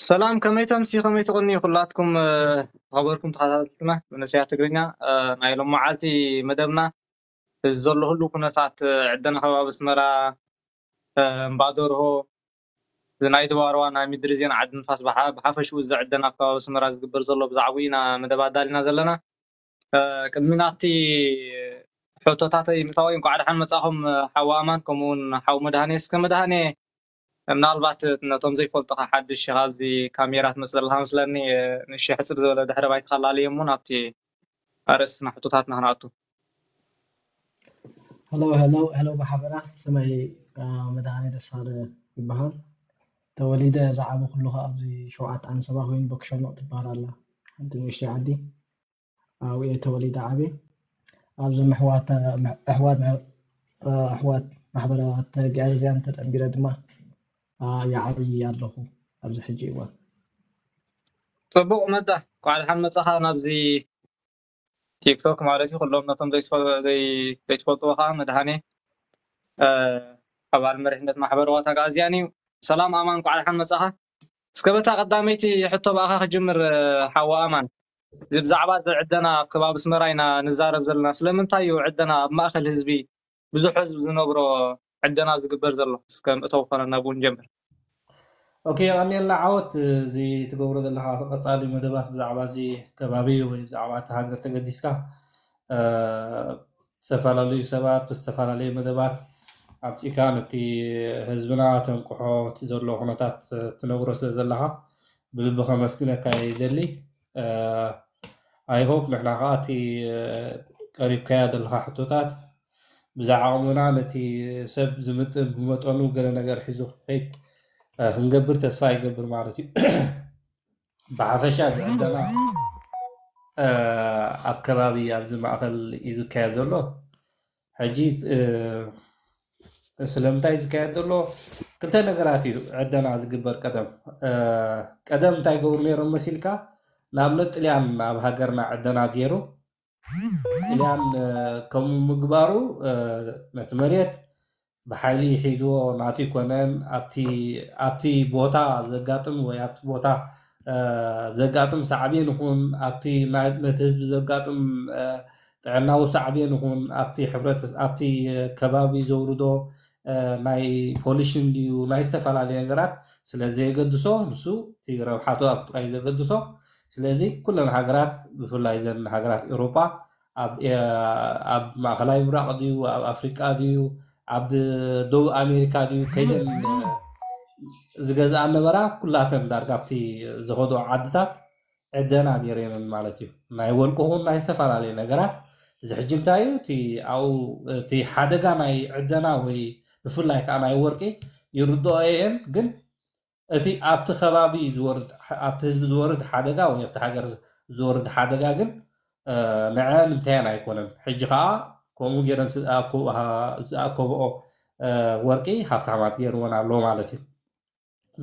ሰላም፣ ከመይ ተምሲ፣ ከመይ ትቕኒ? ኩላትኩም ዝኸበርኩም ተኸታተልትና መንእሰያት ትግርኛ፣ ናይ ሎም መዓልቲ መደብና እዚ ዘሎ ህሉ ኩነታት፣ ዕደና ከባቢ ኣስመራ፣ እምባደርሆ፣ እዚ ናይ ድባርዋ ናይ ምድሪ ዜና ዓዲ ንፋስ፣ ብሓፈሽኡ እዚ ዕደና ኣብ ከባቢ ኣስመራ ዝግበር ዘሎ ብዛዕባኡ ኢና መደብ ኣዳሊና ዘለና። ቅድሚ ናብቲ ሕቶታተይ ምእታወይ፣ እንኳዕ ደሓን መጻኹም ሓው ኣማን፣ ከምኡ እውን ሓው መድሃኔ። እስከ መድሃኔ፣ ምናልባት ነቶም ዘይፈልጡኻ ሓድሽ ኢኻ ኣብዚ ካሜራ ትመጽእ ዘለኻ መስለኒ፣ ንእሽተይ ሕጽር ዝበለ ድሕረ ባይታ ከላልዮ እሞ ናብቲ ኣርእስትና ሕቶታትና ክንኣቱ። ሄሎ ሄሎ ሄሎ፣ ብሓበራ ስመይ መድሃኔ ደሳለ ይበሃል። ተወሊደ ዝዓበኹሉ ከኣ ኣብዚ ሸውዓተ ኣንሰባ ኮይኑ፣ ቦክሸኖቕ ትበሃል ኣላ ሓንቲ ንእሽተይ ዓዲ። ኣብኡ እየ ተወሊደ ዓብየ። ኣብዚ ምሕዋት ኣሕዋት ኣሕዋት ማሕበራት ተግኣዝያን ተጸንቢረ ድማ ይዓብይ ኣለኹ ኣብዚ ሕጂ እዋን። ጽቡቕ መዳ፣ እንኳዕ ደሓን መጻኻ ናብዚ ቲክቶክ ማለት እዩ። ኩሎም ነቶም ዘይትፈልጥዎ ከዓ መድሃኔ ኣባል መሪሕነት ማሕበር ዋታ ጋዝያን እዩ። ሰላም ኣማን፣ እንኳዕ ደሓን መጻኻ። እስከ በታ ቀዳመይቲ ሕቶ ብኣኻ ክጅምር ሓዋ ኣማን፣ እዚ ብዛዕባ እዚ ዕደና ኣብ ከባቢ ኣስመራ ኢና ንዛረብ ዘለና። ስለምንታይ እዩ ዕደና ኣብ ማእከል ህዝቢ ብዙሕ ህዝቢ ዝነብሮ ዕደና ዝግበር ዘሎ? እስከ ምእተው ኮነና ብኡ ንጀምር። ኦኬ፣ የቐንየልና ዓወት። እዚ ትገብሮ ዘለኻ ቀጻሊ መደባት ብዛዕባ እዚ ከባቢ ወይ ብዛዕባ እታ ሃገር ተገዲስካ፣ እ፣ ዝተፈላለዩ ሰባት ብዝተፈላለየ መደባት ኣብጺእካ ነቲ ህዝብና ተንቅሖ፣ እቲ ዘሎ ኩነታት ትነግሮ ስለ ዘለኻ ብልቢ ከመስግነካ ይደሊ። I hope ንሕና ከዓ እቲ ቀሪብካያ ዘለካ ሕቶታት ብዝዓቕምና ነቲ ሰብ ዝምጥን ብመጠኑ ገለ ነገር ሒዙ ክኸይድ ክንገብር ተስፋ ይገብር ማለት እዩ። ብሓፈሻ ዝዕደና ኣብ ከባቢ ኣብዚ ማእኸል እዩ ዝካየድ ዘሎ። ሕጂ ስለምንታይ ዝካየድ ዘሎ ክልተ ነገራት እዩ ዕደና ዝግበር። ቀደም ቀደም እንታይ ገብሩ ነይሮም መሲልካ? ንኣብነት ጥልያን ኣብ ሃገርና ዕደና ገይሩ፣ ጥልያን ከምኡ ምግባሩ ነቲ መሬት ብሓይሊ ሒዝዎ ናቱ ይኮነን። ኣብቲ ቦታ ዘጋጥም ወይ ኣብቲ ቦታ ዘጋጥም ሳዕቤን ይኹን ኣብቲ ነቲ ህዝቢ ዘጋጥም ጥዕናዊ ሳዕቤን ይኹን ኣብቲ ሕብረት ኣብቲ ከባቢ ዘውርዶ ናይ ፖሊሽን ድዩ ናይ ዝተፈላለዩ ነገራት ስለ ዘየገድሶ ንሱ እቲ ረብሓቱ ኣብ ጥራይ ዘገድሶ። ስለዚ ኩለን ሃገራት ብፍላይ ዘን ሃገራት ኤውሮጳ ኣብ ማእከላይ ምብራቕ ድዩ ኣብ ኣፍሪቃ ድዩ ኣብ ደቡብ ኣሜሪካ ድዩ ከይደን ዝገዝኣ ነበራ ኩላተን ዳርጋ ኣብቲ ዝኸዶ ዓድታት ዕደና ገይረንን ማለት እዩ። ናይ ወርቂ ኹን ናይ ዝተፈላለዩ ነገራት። እዚ ሕጂ እንታይ እዩ እቲ ኣብኡ እቲ ሓደጋ ናይ ዕደና ወይ ብፍላይ ከዓ ናይ ወርቂ ይርድኦ እየን፣ ግን እቲ ኣብቲ ከባቢ ዝወርድ ኣብቲ ህዝቢ ዝወርድ ሓደጋ ወይ ኣብቲ ሃገር ዝወርድ ሓደጋ ግን ንዐን እንታያን ኣይኮነን። ሕጂ ከዓ ከምኡ ገይረን ዝኣከብኦ ወርቂ ሃብታማት ገይርወን ኣለዎ ማለት እዩ።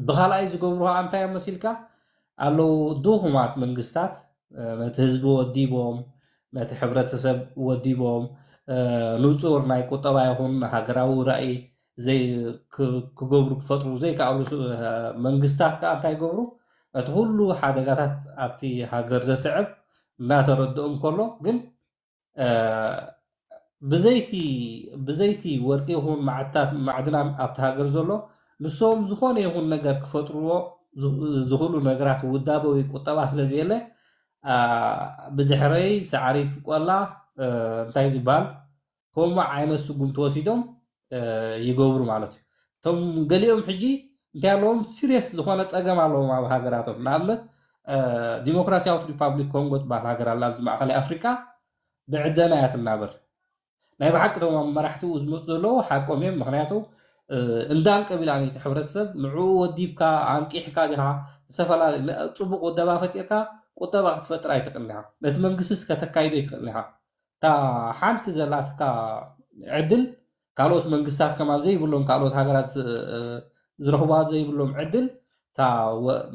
ብኻልኣይ ዝገብሩ ከዓ እንታይ እዮም መሲልካ ኣለዉ ድኹማት መንግስታት ነቲ ህዝቢ ወዲቦም ነቲ ሕብረተሰብ ወዲቦም ንፁር ናይ ቁጠባ ይኹን ሃገራዊ ራእይ ክገብሩ ክፈጥሩ ዘይከኣሉ መንግስታት ከዓ እንታይ ይገብሩ? ነቲ ኩሉ ሓደጋታት ኣብቲ ሃገር ዘስዕብ እናተረድኦም ከሎ ግን ብዘይቲ ብዘይቲ ወርቂ ይኹን ማዕድናት ማዕድናን ኣብቲ ሃገር ዘሎ ንሶም ዝኾነ ይኹን ነገር ክፈጥርዎ ዝኽእሉ ነገራት ውዳበ ወይ ቁጠባ ስለ ዘየለ ብድሕረይ ሳዕሪ ቆላ እንታይ ዝበሃል ከምኡ ዓይነት ስጉምቲ ወሲዶም ይገብሩ ማለት እዩ። እቶም ገሊኦም ሕጂ እንታይ ኣለዎም ሲሪየስ ዝኾነ ፀገም ኣለዎም ኣብ ሃገራቶም። ንኣብነት ዲሞክራሲያዊት ሪፓብሊክ ኮንጎ ትበሃል ሃገር ኣላ ኣብዚ ማእከላይ ኣፍሪቃ ብዕደና እያ ትናበር። ናይ ብሓቂ እቶም ኣብ መራሕቲ ዝመፁ ዘለዉ ሓቆም እዮም። ምክንያቱ እንዳን ቀቢላ ነቲ ሕብረተሰብ ንዕኡ ወዲብካ ኣንቂሕካ ዲኻ ዝተፈላለዩ ፅቡቅ ወደባ ፈጢርካ ቁጠባ ክትፈጥር ኣይትኽእልን ኢኻ። ነቲ መንግስቲ ከተካይዶ ኣይትኽእልን ኢኻ። እታ ሓንቲ ዘላትካ ዕድል ካልኦት መንግስታት ከማን ዘይብሎም ካልኦት ሃገራት ዝረኽባ ዘይብሎም ዕድል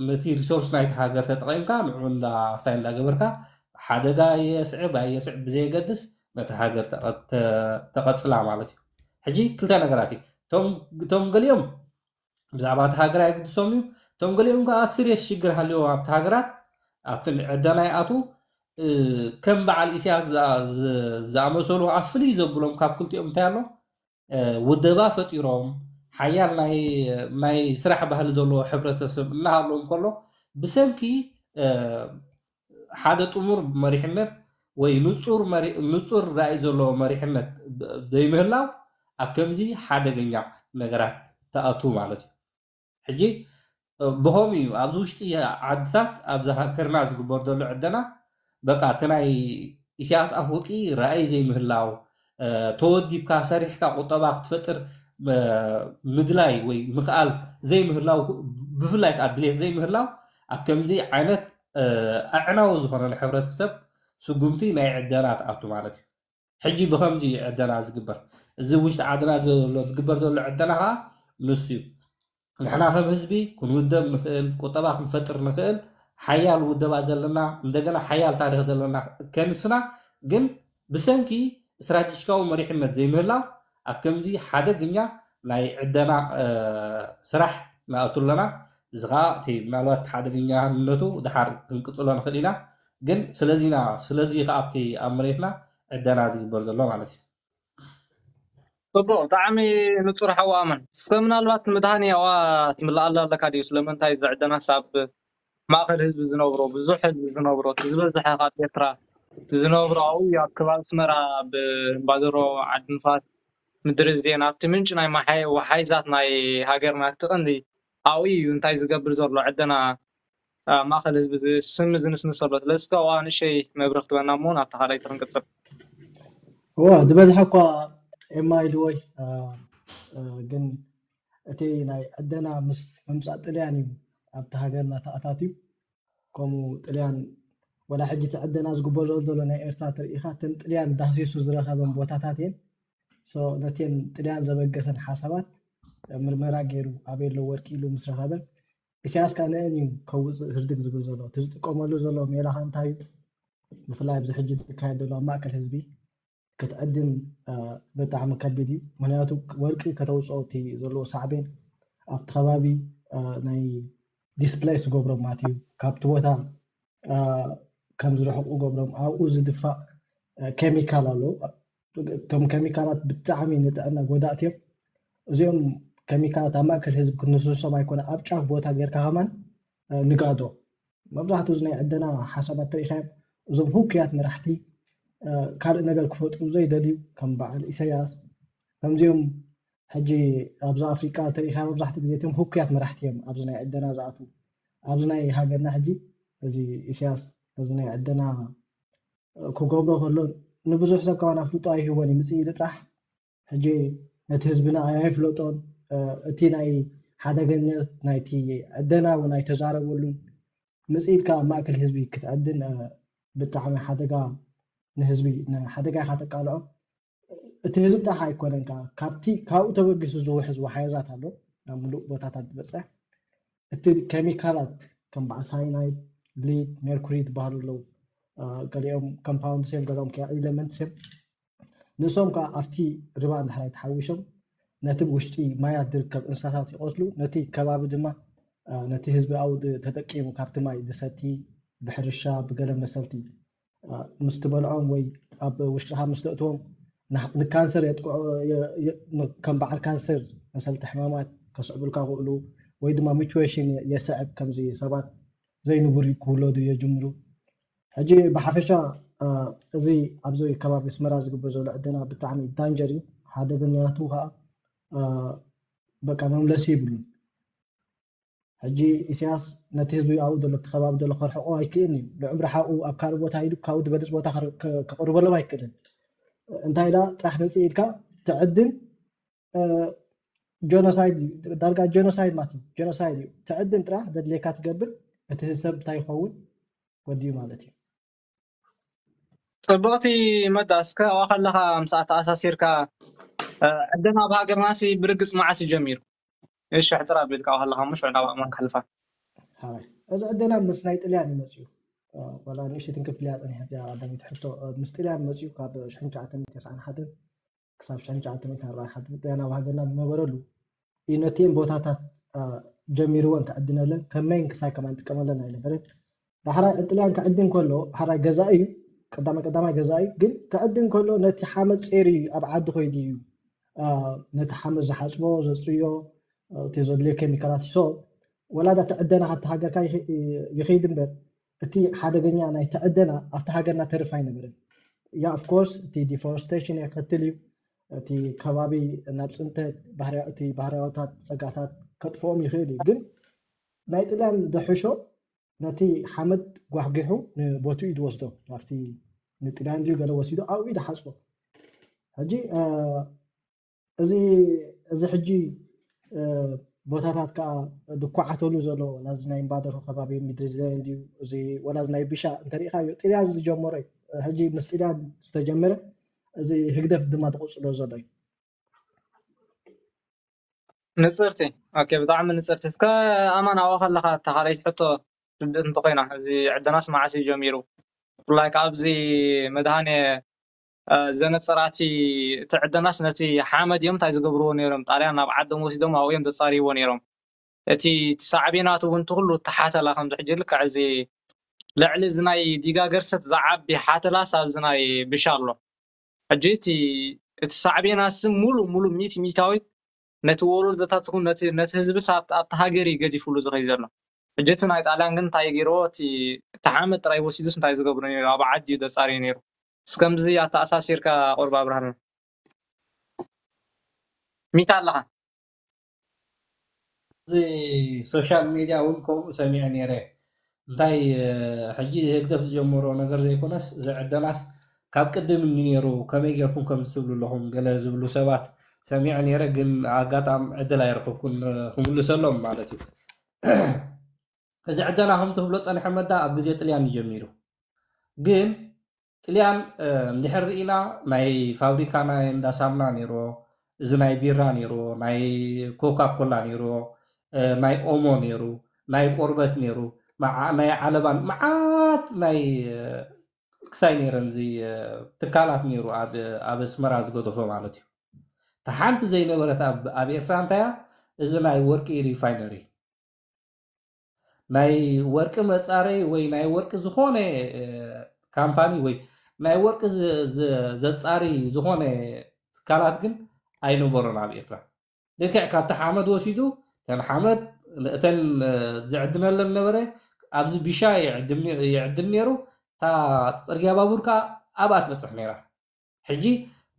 ነቲ ሪሶርስ ናይቲ ሃገር ተጠቒምካ ንዑ እንዳ ሳይ እንዳገበርካ ሓደጋ የስዕብ ኣየስዕብ ብዘየገድስ ነቲ ሃገር ተቐጽላ ማለት እዩ። ሕጂ ክልተ ነገራት እዩ። እቶም ገሊኦም ብዛዕባ እቲ ሃገር ኣይግድሶም እዩ። እቶም ገሊኦም ከዓ ሲሪየስ ሽግር ሃልዮም ኣብቲ ሃገራት ኣብቲ ዕደና ይኣትዉ። ከም በዓል ኢሳያስ ዝኣመሰሉ ኣብ ፍልይ ዘብሎም ካብ ክልቲኦም እንታይ ኣሎ? ውደባ ፈጢሮም ሓያል ናይ ስራሕ ባህሊ ዘለዎ ሕብረተሰብ እናሃለዎም ከሎ ብሰንኪ ሓደ ጥሙር መሪሕነት ወይ ንፁር ራእይ ዘለዎ መሪሕነት ዘይምህላው ኣብ ከምዚ ሓደገኛ ነገራት ተኣቱ ማለት እዩ። ሕጂ ብኸምኡ እዩ ኣብዚ ውሽጢ ዓድታት ኣብዚ ሃገርና ዝግበር ዘሎ ዕደና በቃ እቲ ናይ ኢሳያስ ኣፈወርቂ ራእይ ዘይምህላው ተወዲብካ ሰሪሕካ ቁጠባ ክትፈጥር ምድላይ ወይ ምኽኣል ዘይምህላው ብፍላይ ከዓ ድሌት ዘይምህላው ኣብ ከምዚ ዓይነት ኣዕናዊ ዝኾነ ንሕብረተሰብ ስጉምቲ ናይ ዕደና ትኣቱ ማለት እዩ። ሕጂ ብኸምዚ እዩ ዕደና ዝግበር። እዚ ውሽጢ ዓድና ዘሎ ዝግበር ዘሎ ዕደና ከዓ ንሱ እዩ። ንሕና ከም ህዝቢ ክንውደብ ንኽእል፣ ቁጠባ ክንፈጥር ንኽእል ሓያል ውደባ ዘለና እንደገና ሓያል ታሪኽ ዘለና ከንስና ግን ብሰንኪ ስትራቴጂካዊ መሪሕነት ዘይምህላው ኣብ ከምዚ ሓደግኛ ናይ ዕደና ስራሕ ንኣቱ ኣለና። እዚ ከዓ እቲ ምናልባት ሓደገኛነቱ ድሓር ክንቅፅሎ ንኽእል ኢና። ግን ስለዚና ስለዚ ከዓ ኣብቲ ኣብ መሬትና ዕደና ዝግበር ዘሎ ማለት እዩ። ፅቡቅ ብጣዕሚ ንፁር ሓዋ ኣመን። እስከ ምናልባት መድሃኒ ኣዋ ትምልኣላ ኣለካ ድዩ? ስለምንታይ ዝዕደናስ ኣብ ማእከል ህዝቢ ዝነብሮ ብዙሕ ህዝቢ ዝነብሮ እቲ ዝበዝሐ ካብ ኤርትራ ዝነብሮ ኣብኡ እዩ ኣብ ከባቢ ኣስመራ ኣብ እምባደሮ ዓዲ ንፋስ ምድሪ ዜና ኣብቲ ምንጪ ናይ ወሓይዛት ናይ ሃገርና እቲ ቀንዲ ኣብኡ እዩ እንታይ ዝገብር ዘሎ ዕደና ኣብ ማእከል ህዝቢ ስም ዝንስንስ ዘሎ ስለዚ እስከ ኣብኣ ንእሸይ መብርህ ክትበና እሞ ናብታ ካልኣይቲ ክንቅፅል እወ ዝበዝሐ እኳ ኤማ ኢልዎይ ግን እቲ ናይ ዕደና ምስ ምምፃእ ጥልያን እዩ ኣብቲ ሃገርና ተኣታትዩ ከምኡ ጥልያን ወላ ሕጂ እቲ ዕደና ዝግበረሉ ዘሎ ናይ ኤርትራ ትርኢኻ እተን ጥልያን ዳህሲሱ ዝረኸበን ቦታታት እየን ነተን ጥልያን ዘበገሰን ሓሳባት ምርመራ ገይሩ ኣበይ ኣሎ ወርቂ ኢሉ ምስ ረኸበ ኢሳያስ ከዓ ንአን እዩ ከውፅእ ህርድግ ዝብል ዘሎ እቲ ዝጥቀመሉ ዘሎ ሜላኻ እንታይ እዩ ብፍላይ ኣብዚ ሕጂ ዝካየድ ዘሎ ኣብ ማእከል ህዝቢ ክትዕድን ብጣዕሚ ከቢድ እዩ ምክንያቱ ወርቂ ከተውፅኦ እቲ ዘለዎ ሳዕቤን ኣብቲ ከባቢ ናይ displace ዝገብሮም ማለት እዩ ካብቲ ቦታ ከም ዝርሕቁ ገብሮም ኣብኡ ዝድፋእ ኬሚካል ኣሎ እቶም ኬሚካላት ብጣዕሚ ንጥዕና ጎዳእቲ እዮም እዚኦም ኬሚካላት ኣብ ማእከል ህዝቢ ክንስሶም ኣይኮነ ኣብ ጫፍ ቦታ ጌርካ ከማን ንጋዶ መብዛሕትኡ እዚ ናይ ዕደና ሓሳባት ተሪኢኻዮም እዞም ህውክያት መራሕቲ ካልእ ነገር ክፈጥሩ ዘይደልዩ ከም በዓል ኢሳያስ ከምዚኦም ሕጂ ኣብዚ ኣፍሪቃ ተሪኢኻ መብዛሕትኡ ግዜ እቶም ህውክያት መራሕቲ እዮም ኣብዚ ናይ ዕደና ዝኣትዉ ኣብዚ ናይ ሃገርና ሕጂ እዚ ኢሳያስ እዚ ናይ ዕደና ክገብሮ ከሎ ንብዙሕ ሰብ ከማን ኣፍልጦ ኣይህቦን እዩ ምፅእ ኢሉ ጥራሕ ሕጂ ነቲ ህዝብና ኣይፍለጦን እቲ ናይ ሓደገነት ናይቲ ዕደና እውን ኣይተዛረበሉን ምፅእ ኢልካ ኣብ ማእከል ህዝቢ ክትዕድን ብጣዕሚ ሓደጋ ንህዝቢ ሓደጋ ኢካ ተቃልዖ እቲ ህዝቢ ጥራሕ ኣይኮነን ካብቲ ካብኡ ተበጊሱ ዝውሕዝ ወሓይዛት ኣሎ ናብ ምሉእ ቦታታት ዝበፅሕ እቲ ኬሚካላት ከም በዓል ሳይናይድ ሊድ ሜርኩሪ ዝበሃሉ ኣለዉ ገሊኦም ኮምፓውንድ ሴም ገሊኦም ኤለመንት ሴም ንሶም ከዓ ኣብቲ ርባ እንድሕራይ ተሓዊሾም ነቲ ውሽጢ ማያት ዝርከብ እንስሳታት ይቐትሉ ነቲ ከባቢ ድማ ነቲ ህዝቢ ኣብኡ ተጠቂሙ ካብቲ ማይ ዝሰቲ ብሕርሻ ብገለ መሰልቲ ምስ ትበልዖም ወይ ኣብ ውሽጥኻ ምስ ተእትዎም ንካንሰር የጥቅዖ ከም በዓል ካንሰር መሰልቲ ሕማማት ከስዕቡልካ ክእሉ ወይ ድማ ሚቹዌሽን የስዕብ ከምዚ ሰባት ዘይንቡር ክውለዱ የጅምሩ ሕጂ ብሓፈሻ እዚ ኣብዚ ከባቢ ኣስመራ ዝግበር ዘሎ ዕደና ብጣዕሚ ዳንጀር እዩ ሓደ ብንያቱ ከዓ በቃ መምለሲ ይብሉን ሕጂ ኢሳያስ ነቲ ህዝቢ ኣብኡ ዘሎ እቲ ከባቢ ዘሎ ከርሕቆ ኣይክእልን እዩ ንዕምሪ ሓኡ ኣብ ካልእ ቦታ ኢሉ ካብኡ ዝበልፅ ቦታ ከቅርበሎም ኣይክእልን እንታይ ኢላ ጥራሕ መፅእ ኢልካ ትዕድን ጆኖሳይድ ዳርጋ ጆኖሳይድ ማለት እዩ ጆኖሳይድ እዩ ትዕድን ጥራሕ ዘድልየካ ትገብር እቲ ሰብ እንታይ ይኸውን ወዲኡ ማለት እዩ ፅቡቅቲ መዳ እስከ ኣብኣ ከለካ ምሳኣ ተኣሳሲርካ ዕደና ኣብ ሃገርናሲ ብርግፅ መዓስ እዩ ጀሚሩ እሺ ሕፅር ኣቢልካ ከለካ ሞ ሽዑ ናብ ኣእማን ክሕልፋ እዚ ዕደና ምስ ናይ ጥልያን እዩ መፅኡ ዋላ ንእሽተይ ትንክፍ ኢላ ፀኒሓ እዚኣ ቀዳመይቲ ሕቶ ምስ ጥልያን መፅኡ ካብ ሽሕን ትሽዓተን ሚእትን ተስዓን ሓደን ክሳብ ሽሕን ትሽዓተን ሚእትን ኣርባዓን ሓደን ጥልያን ኣብ ሃገርና ዝነበረሉ እዩ ነቲአን ቦታታት ጀሚርወን ክዕድነለን ከመይን ክሳይ ከማን ጥቀመለን ኣይነበረን። ዳሕራይ ጥልያን ክዕድን ከሎ ሓራይ ገዛኢ እዩ፣ ቀዳማይ ቀዳማይ ገዛኢ እዩ። ግን ክዕድን ከሎ ነቲ ሓመድ ጸይሩ እዩ ኣብ ዓዲ ኮይዱ እዩ ነቲ ሓመድ ዝሓጽቦ፣ ዘጽርዮ፣ እቲ ዘድልዮ ኬሚካላት። ሶ ወላ እቲ ዕደና ካብቲ ሃገርካ ይኸይድ እምበር እቲ ሓደገኛ ናይ ተዕደና ኣብቲ ሃገርና ተርፍ ኣይነበረን። ያ ኦፍኮርስ እቲ ዲፎረስቴሽን የከትል እዩ። እቲ ከባቢ ናብ ጽንተት እቲ ባህርያዊታት ጸጋታት ከጥፍኦም ይኽእል እዩ። ግን ናይ ጥልያን ዝሕሾ ነቲ ሓመድ ጓሕጒሑ ንቦትኡ እዩ ዝወስዶ። ናብቲ ንጥልያን ድዩ ገለ ወሲዱ ኣብኡ እዩ ዝሓጽቦ። ሕጂ እዚ እዚ ሕጂ ቦታታት ከዓ ዝኳዓተሉ ዘሎ ወላ እዚ ናይ እምባደርሆ ከባቢ ምድሪ ዘን ድዩ እዚ ወላ እዚ ናይ ቢሻ እንተሪኢኻዮ ጥልያን ዝጀመሮ እዩ። ሕጂ ምስ ጥልያን ዝተጀመረ እዚ ህግደፍ ድማ ዝቕፅሎ ዘሎ እዩ። ንፅርቲ ኦኬ፣ ብጣዕሚ ንፅርቲ። እስከ ኣማን ኣብኡ ከለካ እታ ካልኣይቲ ሕቶ ርድእት እንተኮይና እዚ ዕደናስ መዓስ እዩ ጀሚሩ? ብፍላይ ከዓ ኣብዚ መድሃኔ ዘነፀራቲ እቲ ዕደናስ ነቲ ሓመድ እዮም እንታይ ዝገብርዎ ነይሮም? ጣልያን ናብ ዓዶም ወሲዶም ኣብኡ እዮም ዘፃርይዎ ነይሮም። እቲ ሳዕቤናቱ እውን ትኩሉ ተሓተላ ከምዚ ሕጂ ልክዕ እዚ ልዕሊ እዚ ናይ ዲጋ ገርሰት ዝዓቢ ሓተላስ ኣብዚ ናይ ብሻ ኣሎ። ሕጂ እቲ እቲ ሳዕቤናስ ሙሉ ሙሉ ሚት ሚታዊት ነቲ ወለዶታት ይኹን ነቲ ነቲ ህዝብስ ኣብቲ ኣብቲ ሃገር እዩ ገዲፉሉ ዝኸይድ ዘሎ። ሕጂ እቲ ናይ ጣልያን ግን እንታይ ገይርዎ? እቲ እቲ ሓመድ ጥራይ ወሲዱስ እንታይ ዝገብሮ ነይሩ? ኣብ ዓዲ እዩ ዘጻርዮ ነይሩ። እስከምዚ ኣተኣሳሲርካ ቁርብ ኣብርሃልና። ሚታ ኣለኻ? እዚ ሶሻል ሜድያ እውን ከምኡ ሰሚዐ ነይረ። እንታይ ሕጂ ህግደፍ ዝጀመሮ ነገር ዘይኮነስ ዝዕደናስ ካብ ቅድም እንዲ ነይሩ ከመይ ጌርኩም ከም ትብሉ ኣለኹም ገለ ዝብሉ ሰባት ሰሚዐ ነይረ፣ ግን ኣጋጣም ዕድል ኣይረኸብኩን ክምልሰሎም ማለት እዩ። እዚ ዕደና ከም ትብሎ ጸኒሐ መዳ ኣብ ግዜ ጥልያን እዩ ጀሚሩ። ግን ጥልያን እንድሕር ርኢና ናይ ፋብሪካ ናይ እንዳ ሳምና ነይርዎ፣ እዚ ናይ ቢራ ነይርዎ፣ ናይ ኮካ ኮላ ነይርዎ፣ ናይ ኦሞ ነይሩ፣ ናይ ቆርበት ነይሩ፣ ናይ ዓለባን መዓት ናይ ክሳይ ነይረን እዚ ትካላት ነይሩ ኣብ ኣስመራ ዝገደፎ ማለት እዩ። ተሓንቲ ዘይነበረት ኣብ ኤርትራ እንታያ እዚ ናይ ወርቂ ሪፋይነሪ ናይ ወርቂ መጻረይ ወይ ናይ ወርቂ ዝኾነ ካምፓኒ ወይ ናይ ወርቂ ዘጻሪ ዝኾነ ትካላት ግን ኣይነበሮን ኣብ ኤርትራ። ልክዕ ካብቲ ሓመድ ወሲዱ እተን ሓመድ እተን ዝዕድነለን ነበረ ኣብዚ ቢሻ ይዕድን ነይሩ። እታ ፅርግያ ባቡር ከዓ ኣብኣ ትበፅሕ ነይራ። ሕጂ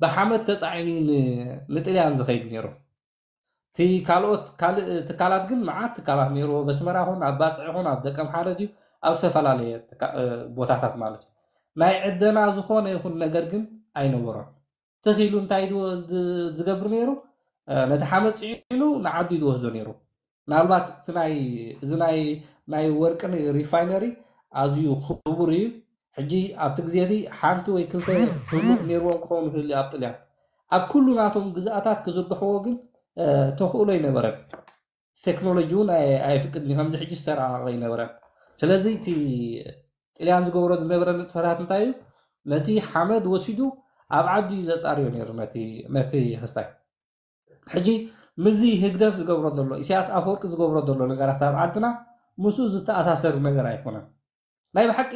ብሓመድ ተፃዒኑ ንጥልያን ዝኸይድ ነይሩ። እቲ ካልኦት ካልእ ትካላት ግን መዓት ትካላት ነይርዎ። በስመራ ኹን ኣብ ባፅዕ ኹን ኣብ ደቀምሓረ ድዩ ኣብ ዝተፈላለየ ቦታታት ማለት እዩ። ናይ ዕደና ዝኾነ ይኹን ነገር ግን ኣይነበሮን። ተኺሉ እንታይ ዝገብር ነይሩ? ነቲ ሓመድ ፅዒኑ ንዓዱ እዩ ዝወስዶ ነይሩ። ምናልባት እቲ ናይ እዚ ናይ ናይ ወርቂ ሪፋይነሪ ኣዝዩ ክቡር እዩ። ሕጂ ኣብቲ ግዜ እቲ ሓንቲ ወይ ክልተ ህቡእ ነይርዎም ክኸውን ይኽእል ኣብ ጥልያን ኣብ ኩሉ ናቶም ግዝኣታት ክዝርግሕዎ ግን ተኽእሎ ኣይነበረን። ቴክኖሎጂ እውን ኣየፍቅድን እዩ። ከምዚ ሕጂ ዝተረቐቐ ኣይነበረን። ስለዚ እቲ ጥልያን ዝገብሮ ዝነበረ ንጥፈታት እንታይ እዩ? ነቲ ሓመድ ወሲዱ ኣብ ዓዱ እዩ ዘጻርዮ ነይሩ ነቲ ክስታይ። ሕጂ ምስዚ ህግደፍ ዝገብሮ ዘሎ ኢሳያስ ኣፈወርቂ ዝገብሮ ዘሎ ነገራት ኣብ ዓድና ምስኡ ዝተኣሳሰር ነገር ኣይኮነን። ናይ ብሓቂ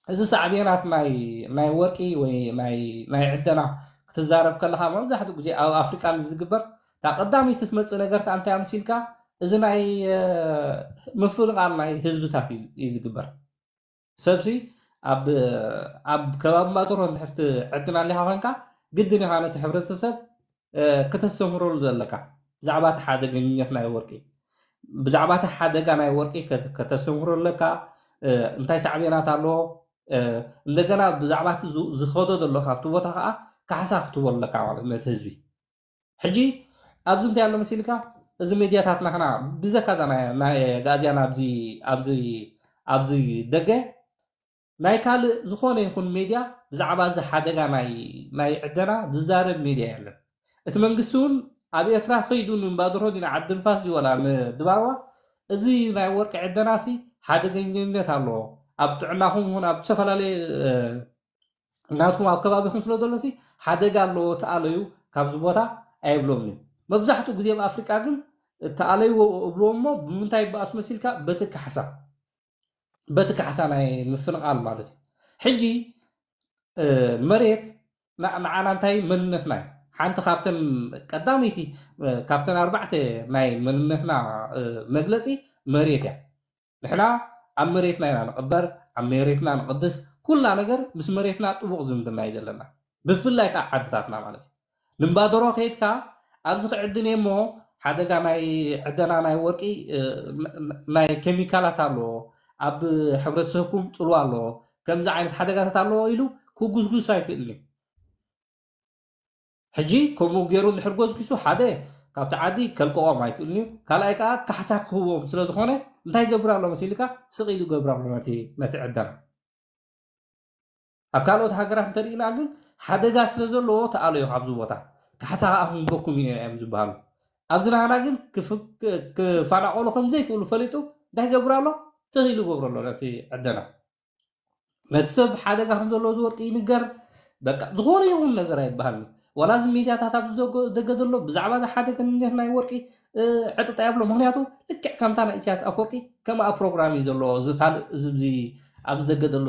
እዚ ሳዕቤናት ናይ ናይ ወርቂ ወይ ናይ ናይ ዕደና ክትዛረብ ከለካ መብዛሕትኡ ግዜ ኣብ ኣፍሪቃ ዝግበር እታ ቀዳመይቲ ትመፅእ ነገር ከዓ እንታይ ምስ ኢልካ እዚ ናይ ምፍንቓል ናይ ህዝብታት እዩ ዝግበር። ሰብሲ ኣብ ኣብ ከባቢ ማጠሮ እንድሕር ትዕድን ኣሊኻ ኮይንካ ግድን ኢኻ ነቲ ሕብረተሰብ ከተስተምህረሉ ዘለካ ብዛዕባ እቲ ሓደገኛት ናይ ወርቂ ብዛዕባ እቲ ሓደጋ ናይ ወርቂ ከተስተምህሮ ኣለካ። እንታይ ሳዕቤናት ኣለዎ? እንደገና ብዛዕባ እቲ ዝኸዶ ዘሎ ካብቲ ቦታ ከዓ ካሕሳ ክትቦ ኣለካ ማለት ነቲ ህዝቢ። ሕጂ ኣብዚ እንታይ ኣሎ መሲልካ እዚ ሜድያታትና ክና ብዘካዛ ናይ ኣጋዝያን ኣብዚ ኣብዚ ኣብዚ ደገ ናይ ካልእ ዝኾነ ይኹን ሜድያ ብዛዕባ እዚ ሓደጋ ናይ ናይ ዕደና ዝዛረብ ሜድያ የለን። እቲ መንግስቲ እውን ኣብ ኤርትራ ከይዱ ንእምባድሮ ድዩ ንዓዲ ንፋስ ድዩ ወላ ንድባርዋ እዚ ናይ ወርቂ ዕደናሲ ሓደገኝነት ኣለዎ። ኣብ ጥዕናኹም ይኹን ኣብ ዝተፈላለየ ናትኩም ኣብ ከባቢኹም ስለ ዘሎሲ ሓደጋ ኣለዎ ተኣለዩ ካብዚ ቦታ ኣይብሎም እዩ። መብዛሕትኡ ግዜ ኣብ ኣፍሪቃ ግን እተኣለይዎ እብልዎ እሞ ብምንታይ ይበኣሱ መሲልካ? በቲ ካሕሳ፣ በቲ ካሕሳ ናይ ምፍንቓል ማለት እዩ። ሕጂ መሬት ንዓና እንታይ መንነትና እዩ? ሓንቲ ካብተን ቀዳመይቲ ካብተን ኣርባዕተ ናይ መንነትና መግለፂ መሬት እያ። ንሕና ኣብ መሬትና ኢና ንቕበር፣ ኣብ መሬትና ንቕድስ፣ ኩላ ነገር ምስ መሬትና ጥቡቕ ዝምድና እዩ ዘለና። ብፍላይ ከዓ ዓድታትና ማለት እዩ። ንእምባደሮ ከይድካ ኣብዚ ክዕድን እየ እሞ ሓደጋ ናይ ዕደና ናይ ወርቂ ናይ ኬሚካላት ኣለዎ፣ ኣብ ሕብረተሰብኩም ፅልዋ ኣለዎ፣ ከምዚ ዓይነት ሓደጋታት ኣለዎ ኢሉ ክጉስጉስ ኣይክእልን እዩ። ሕጂ ከምኡ ገይሩ እንድሕር ጎስጒሱ ሓደ ካብቲ ዓዲ ከልቀቖም ኣይክእልን እዩ፣ ካልኣይ ከዓ ካሕሳ ክህቦም ስለ ዝኾነ እንታይ ይገብር ኣሎ መሲልካ? ስቕ ኢሉ ይገብር ኣሎ ነቲ ነቲ ዕደና። ኣብ ካልኦት ሃገራት እንተሪእና ግን ሓደጋ ስለ ዘለዎ ተኣለዮ ካብዚ ቦታ ካሕሳ ከዓ ክንበኩም ኢና እዮም ዝበሃሉ። ኣብዚ ናህና ግን ክፋናቆሉ ከም ዘይክእሉ ፈሊጡ እንታይ ይገብር ኣሎ? ትኽ ኢሉ ይገብሮ ኣሎ ነቲ ዕደና። ነቲ ሰብ ሓደጋ ከም ዘለዎ ዝወርቂ ይንገር። በቃ ዝኾነ ይኹን ነገር ኣይበሃልን። ዋላ እዚ ሚድያታት ኣብዚ ዘጎ- ዘገደሎ ብዛዕባ እዚ ሓደ ክንነት ናይ ወርቂ ዕጥጣ የብሎ። ምክንያቱ ልክዕ ከምታ ናይ ኢሳያስ ኣፈወርቂ ከምኣ ፕሮግራም እዩ ዘለዎ። እዚ ካልእ እዚ ኣብዚ ኣብዚ ዘገደሎ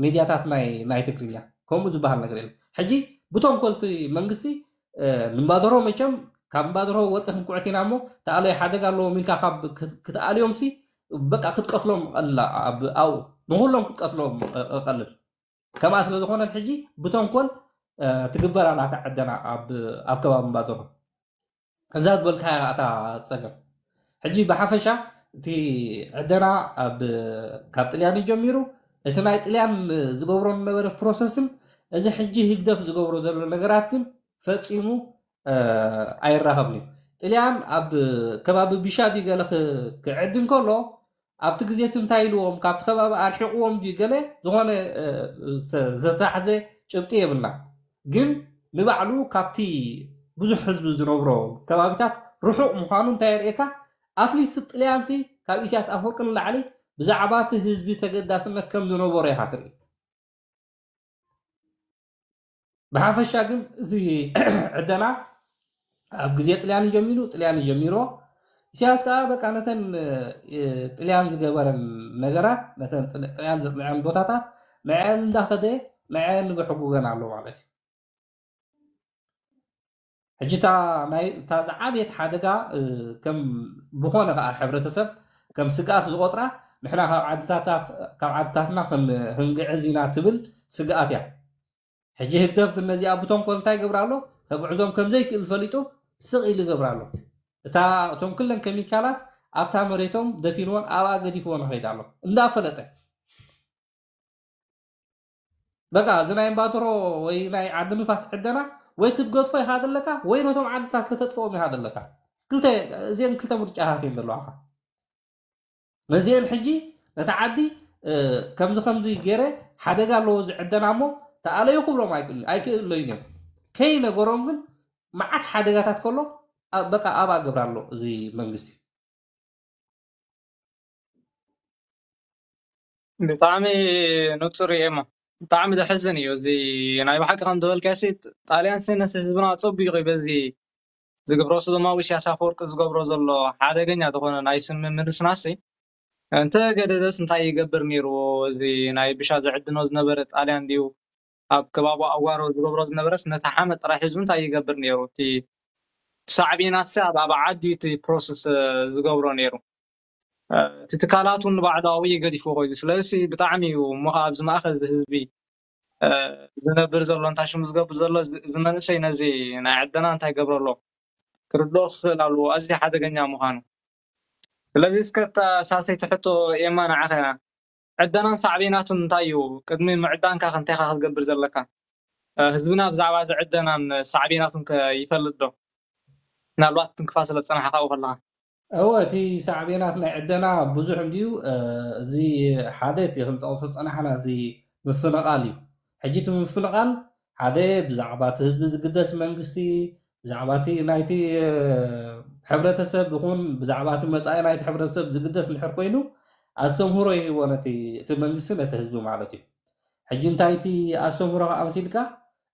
ሚድያታት ናይ ናይ ትግርኛ ከምኡ ዝበሃል ነገር የለን። ሕጂ ብተንኮልቲ መንግስቲ ንባደሮ መቸም ካብ ንባደሮ ወርቂ ክንኩዕት ኢና እሞ ተኣለዮ ሓደጋ ኣለዎም ኢልካ ካብ ክትኣልዮም ሲ በቃ ክትቀትሎም ቀልላ ኣብኡ ንኩሎም ክትቀትሎም ቀልል። ከምኣ ስለ ዝኾነት ሕጂ ብተንኮል ትግበር ኣላ እታ ዕደና ኣብ ከባቢ ንባደሮ። እዛ ዝበልካያ እታ ፀገም ሕጂ ብሓፈሻ እቲ ዕደና ካብ ጥልያን ጀሚሩ እቲ ናይ ጥልያን ዝገብሮ ዝነበረ ፕሮሰስን እዚ ሕጂ ህግደፍ ዝገብሮ ዘሎ ነገራት ግን ፈፂሙ ኣይራኸብን እዩ። ጥልያን ኣብ ከባቢ ቢሻ ድዩ ገለ ክዕድን ከሎ ኣብቲ ግዜ እቲ እንታይ ኢልዎም ካብቲ ከባቢ ኣርሒቕዎም ድዩ ገለ ዝኾነ ዝተታሕዘ ጭብጢ የብልና። ግን ንባዕሉ ካብቲ ብዙሕ ህዝቢ ዝነብሮ ከባቢታት ርሑቕ ምዃኑ እንታይ የርእየካ? ኣትሊስት ጥልያንሲ ካብ ኢሳያስ ኣፈወርቂ ንላዕሊ ብዛዕባ እቲ ህዝቢ ተገዳስነት ከም ዝነበሮ ኢኻ ትርኢ። ብሓፈሻ ግን እዚ ዕደና ኣብ ግዜ ጥልያን ጀሚሩ ጥልያን ጀሚሮ ኢሳያስ ከዓ በቃ ነተን ጥልያን ዝገበረን ነገራት ነተን ጥልያን ዘጥልዐን ቦታታት ንዐን እንዳኸደ ንዐን በሕጉገን ኣሎ ማለት እዩ። ሕጂ እታ ናይ እታ ዝዓበየት ሓደጋ ከም ብኾነ ከዓ ሕብረተሰብ ከም ስግኣት ዝቆጥራ ንሕና ካብ ዓድታታት ካብ ዓድታትና ክንግዕዝ ኢና ትብል ስግኣት እያ። ሕጂ ህግደፍ ግን ነዚኣ ብተንኮል እንታይ ይገብር ኣሎ? ከግዕዞም ከም ዘይክእል ፈሊጡ ስቕ ኢሉ ይገብር ኣሎ። እታ እቶም ኩለን ኬሚካላት ኣብታ መሬቶም ደፊንዎን ኣብኣ ገዲፍዎን ይኸይድ ኣሎ እንዳፈለጠ። በቃ እዚ ናይ እምባትሮ ወይ ናይ ዓዲ ንፋስ ዕደና ወይ ክትገድፎ ኢኻ ዘለካ ወይ ነቶም ዓድታት ከተጥፍኦም ኢኻ ዘለካ። ክልተ እዚአን ክልተ ምርጫታት እየን ዘለዋኻ። ነዚአን ሕጂ ነቲ ዓዲ ከምዚ ከምዚ ገይረ ሓደጋ ኣለዎ እዚ ዕደና እሞ ተኣለዩ ክብሎም ኣይክእልን ኣይክእለዩን እዮም። ከይነገሮም ግን መዓት ሓደጋታት ከሎ በቃ ኣብኣ ገብር ኣሎ እዚ መንግስቲ። ብጣዕሚ ንፁር እየ እሞ ብጣዕሚ ዘሕዝን እዩ እዚ ናይ ብሓቂ ከም ዝበልካሲ ጣልያን ሲ ነቲ ህዝብና ፀቢቑ እዩ በዚ ዝግብሮ ስዶማዊ ኢሳያስ ኣፈወርቂ ዝገብሮ ዘሎ ሓደገኛ ዝኾነ ናይ ስም ምንስናሲ እንተ ገደደስ እንታይ ይገብር ነይርዎ እዚ ናይ ብሻ ዝዕድኖ ዝነበረ ጣልያን ድዩ ኣብ ከባቢ ኣዋሮ ዝገብሮ ዝነበረስ ነቲ ሓመድ ጥራሕ ሒዙ እንታይ ይገብር ነይሩ እቲ ሳዕቤናት ሲ ኣብ ዓዲ እቲ ፕሮሰስ ዝገብሮ ነይሩ እቲ ትካላት እውን ንባዕሉ ኣብኡ ገዲፍዎ ኮይኑ ስለዚ ብጣዕሚ እዩ እሞ ከዓ ኣብዚ ማእከል እዚ ህዝቢ ዝነብር ዘሎ እንታይ ሽሙ ዝገብር ዘሎ እዚ መንእሰይ ነዚ ናይ ዕደና እንታይ ገብረሎ ክርድኦ ክኽእል ኣለዎ ኣዝዩ ሓደገኛ ምዃኑ ስለዚ እስከ እታ ሳሰይቲ ሕቶ ኤማ ንዓኸ ዕደናን ሳዕቤናቱን እንታይ እዩ ቅድሚ ምዕዳንካ ከ እንታይ ኢኻ ክትገብር ዘለካ ህዝብና ብዛዕባ እዚ ዕደናን ሳዕቤናቱን ከ ይፈልጥ ዶ ምናልባት ትንክፋ ስለ ዝፀናሕካ ኣብኡ ከለኻ እወ እቲ ሳዕቤናት ናይ ዕደና ብዙሕ እንድዩ እዚ ሓደ እቲ ክንጠቕሶ ዝፀናሕና እዚ ምፍንቓል እዩ ሕጂ እቲ ምፍንቓል ሓደ ብዛዕባ እቲ ህዝቢ ዝግደስ መንግስቲ ብዛዕባ እቲ ናይቲ ሕብረተሰብ ይኹን ብዛዕባ እቲ መፃኢ ናይቲ ሕብረተሰብ ዝግደስ እንድሕር ኮይኑ ኣስተምህሮ ይህቦ ነቲ እቲ መንግስቲ ነቲ ህዝቢ ማለት እዩ ሕጂ እንታይ እቲ ኣስተምህሮ ከዓ መሲልካ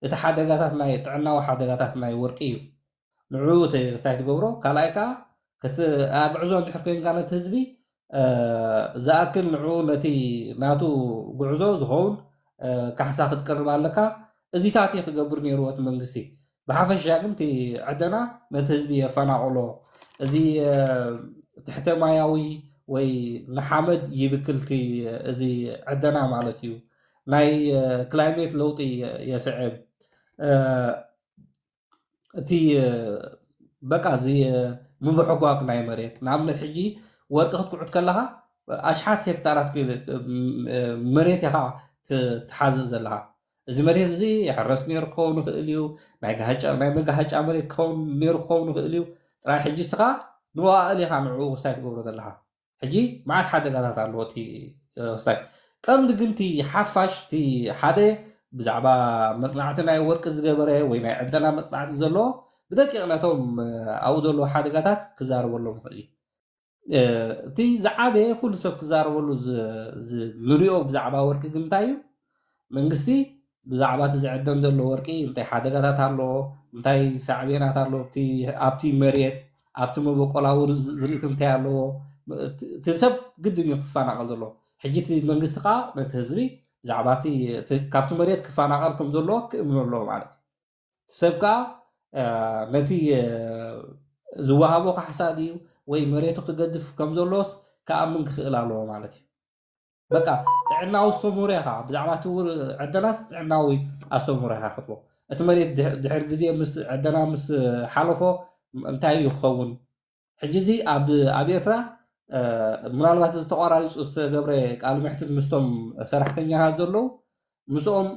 እቲ ሓደጋታት ናይ ጥዕናዊ ሓደጋታት ናይ ወርቂ እዩ ንዑ ተሳይ ትገብሮ ካልኣይ ከዓ ከት- ኣብ ጉዕዞ እንድሕር ኮይንካ ነቲ ህዝቢ ዝኣክል ንዑ ነቲ ናቱ ጉዕዞ ዝኸውን ካሕሳ ክትቅርብ ኣለካ። እዚታት እዩ ክገብር ነይርዎ እቲ መንግስቲ። ብሓፈሻ ግን እቲ ዕደና ነቲ ህዝቢ የፈናቕሎ። እዚ ትሕተ ማያዊ ወይ ንሓመድ ይብክልቲ እዚ ዕደና ማለት እዩ። ናይ ክላይሜት ለውጢ የስዕብ። እቲ በቃ እዚ ምብሕጓግ ናይ መሬት ንኣብነት ሕጂ ወርቂ ክትኩዕት ከለኻ ኣሽሓት ሄክታራት መሬት ኢኻ ትሓዝእ ዘለኻ። እዚ መሬት እዚ ይሕረስ ነይሩ ክኸውን ይኽእል እዩ። ናይ መጋሃጫ መሬት ክኸውን ነይሩ ክኸውን ይኽእል እዩ። ጥራይ ሕጂ ስኻ ንዋእል ኢኻ ንዕኡ ክስታይ ትገብሮ ዘለኻ። ሕጂ መዓት ሓደጋታት ኣለዎ እቲ ክስታይ። ቀንዲ ግን እቲ ሓፋሽ እቲ ሓደ ብዛዕባ መፅናዕቲ ናይ ወርቂ ዝገበረ ወይ ናይ ዕደና መፅናዕቲ ዘለዎ ብደቂቕ ነቶም ኣብኡ ዘለዉ ሓደጋታት ክዛረበሎም ይኽእል እዩ። እቲ ዝዓበየ ኩሉ ሰብ ክዛረበሉ ንሪኦ ብዛዕባ ወርቂ ግን እንታይ እዩ? መንግስቲ ብዛዕባ እቲ ዝዕደን ዘሎ ወርቂ እንታይ ሓደጋታት ኣለዎ፣ እንታይ ሳዕቤናት ኣለዎ ኣብቲ መሬት፣ ኣብቲ መበቆላዊ ዝርእቲ እንታይ ኣለዎ፣ እቲ ሰብ ግድን እዩ ክፈናቐል ዘለዎ። ሕጂ እቲ መንግስቲ ከዓ ነቲ ህዝቢ ብዛዕባ እቲ ካብቲ መሬት ክፈናቐል ከም ዘለዎ ክእምኖ ኣለዎ ማለት እዩ። ሰብ ከዓ ነቲ ዝወሃቦ ካሕሳ ድዩ ወይ መሬቱ ክገድፍ ከም ዘሎስ ክኣምን ክኽእል ኣለዎ ማለት እዩ። በቃ ጥዕናዊ ኣስተምህሮ ኢኻ ብዛዕባ እቲ ዕደናስ ጥዕናዊ ኣስተምህሮ ኢኻ ክትቦ። እቲ መሬት ድሕር ግዜ ምስ ዕደና ምስ ሓለፎ እንታይ እዩ ክኸውን? ሕጂ እዚ ኣብ ኤርትራ ምናልባት እዚ ተቋራሪፁ ዝተገብረ ቃል ምሕትት ምስቶም ሰራሕተኛታት ዘለዉ ምስኦም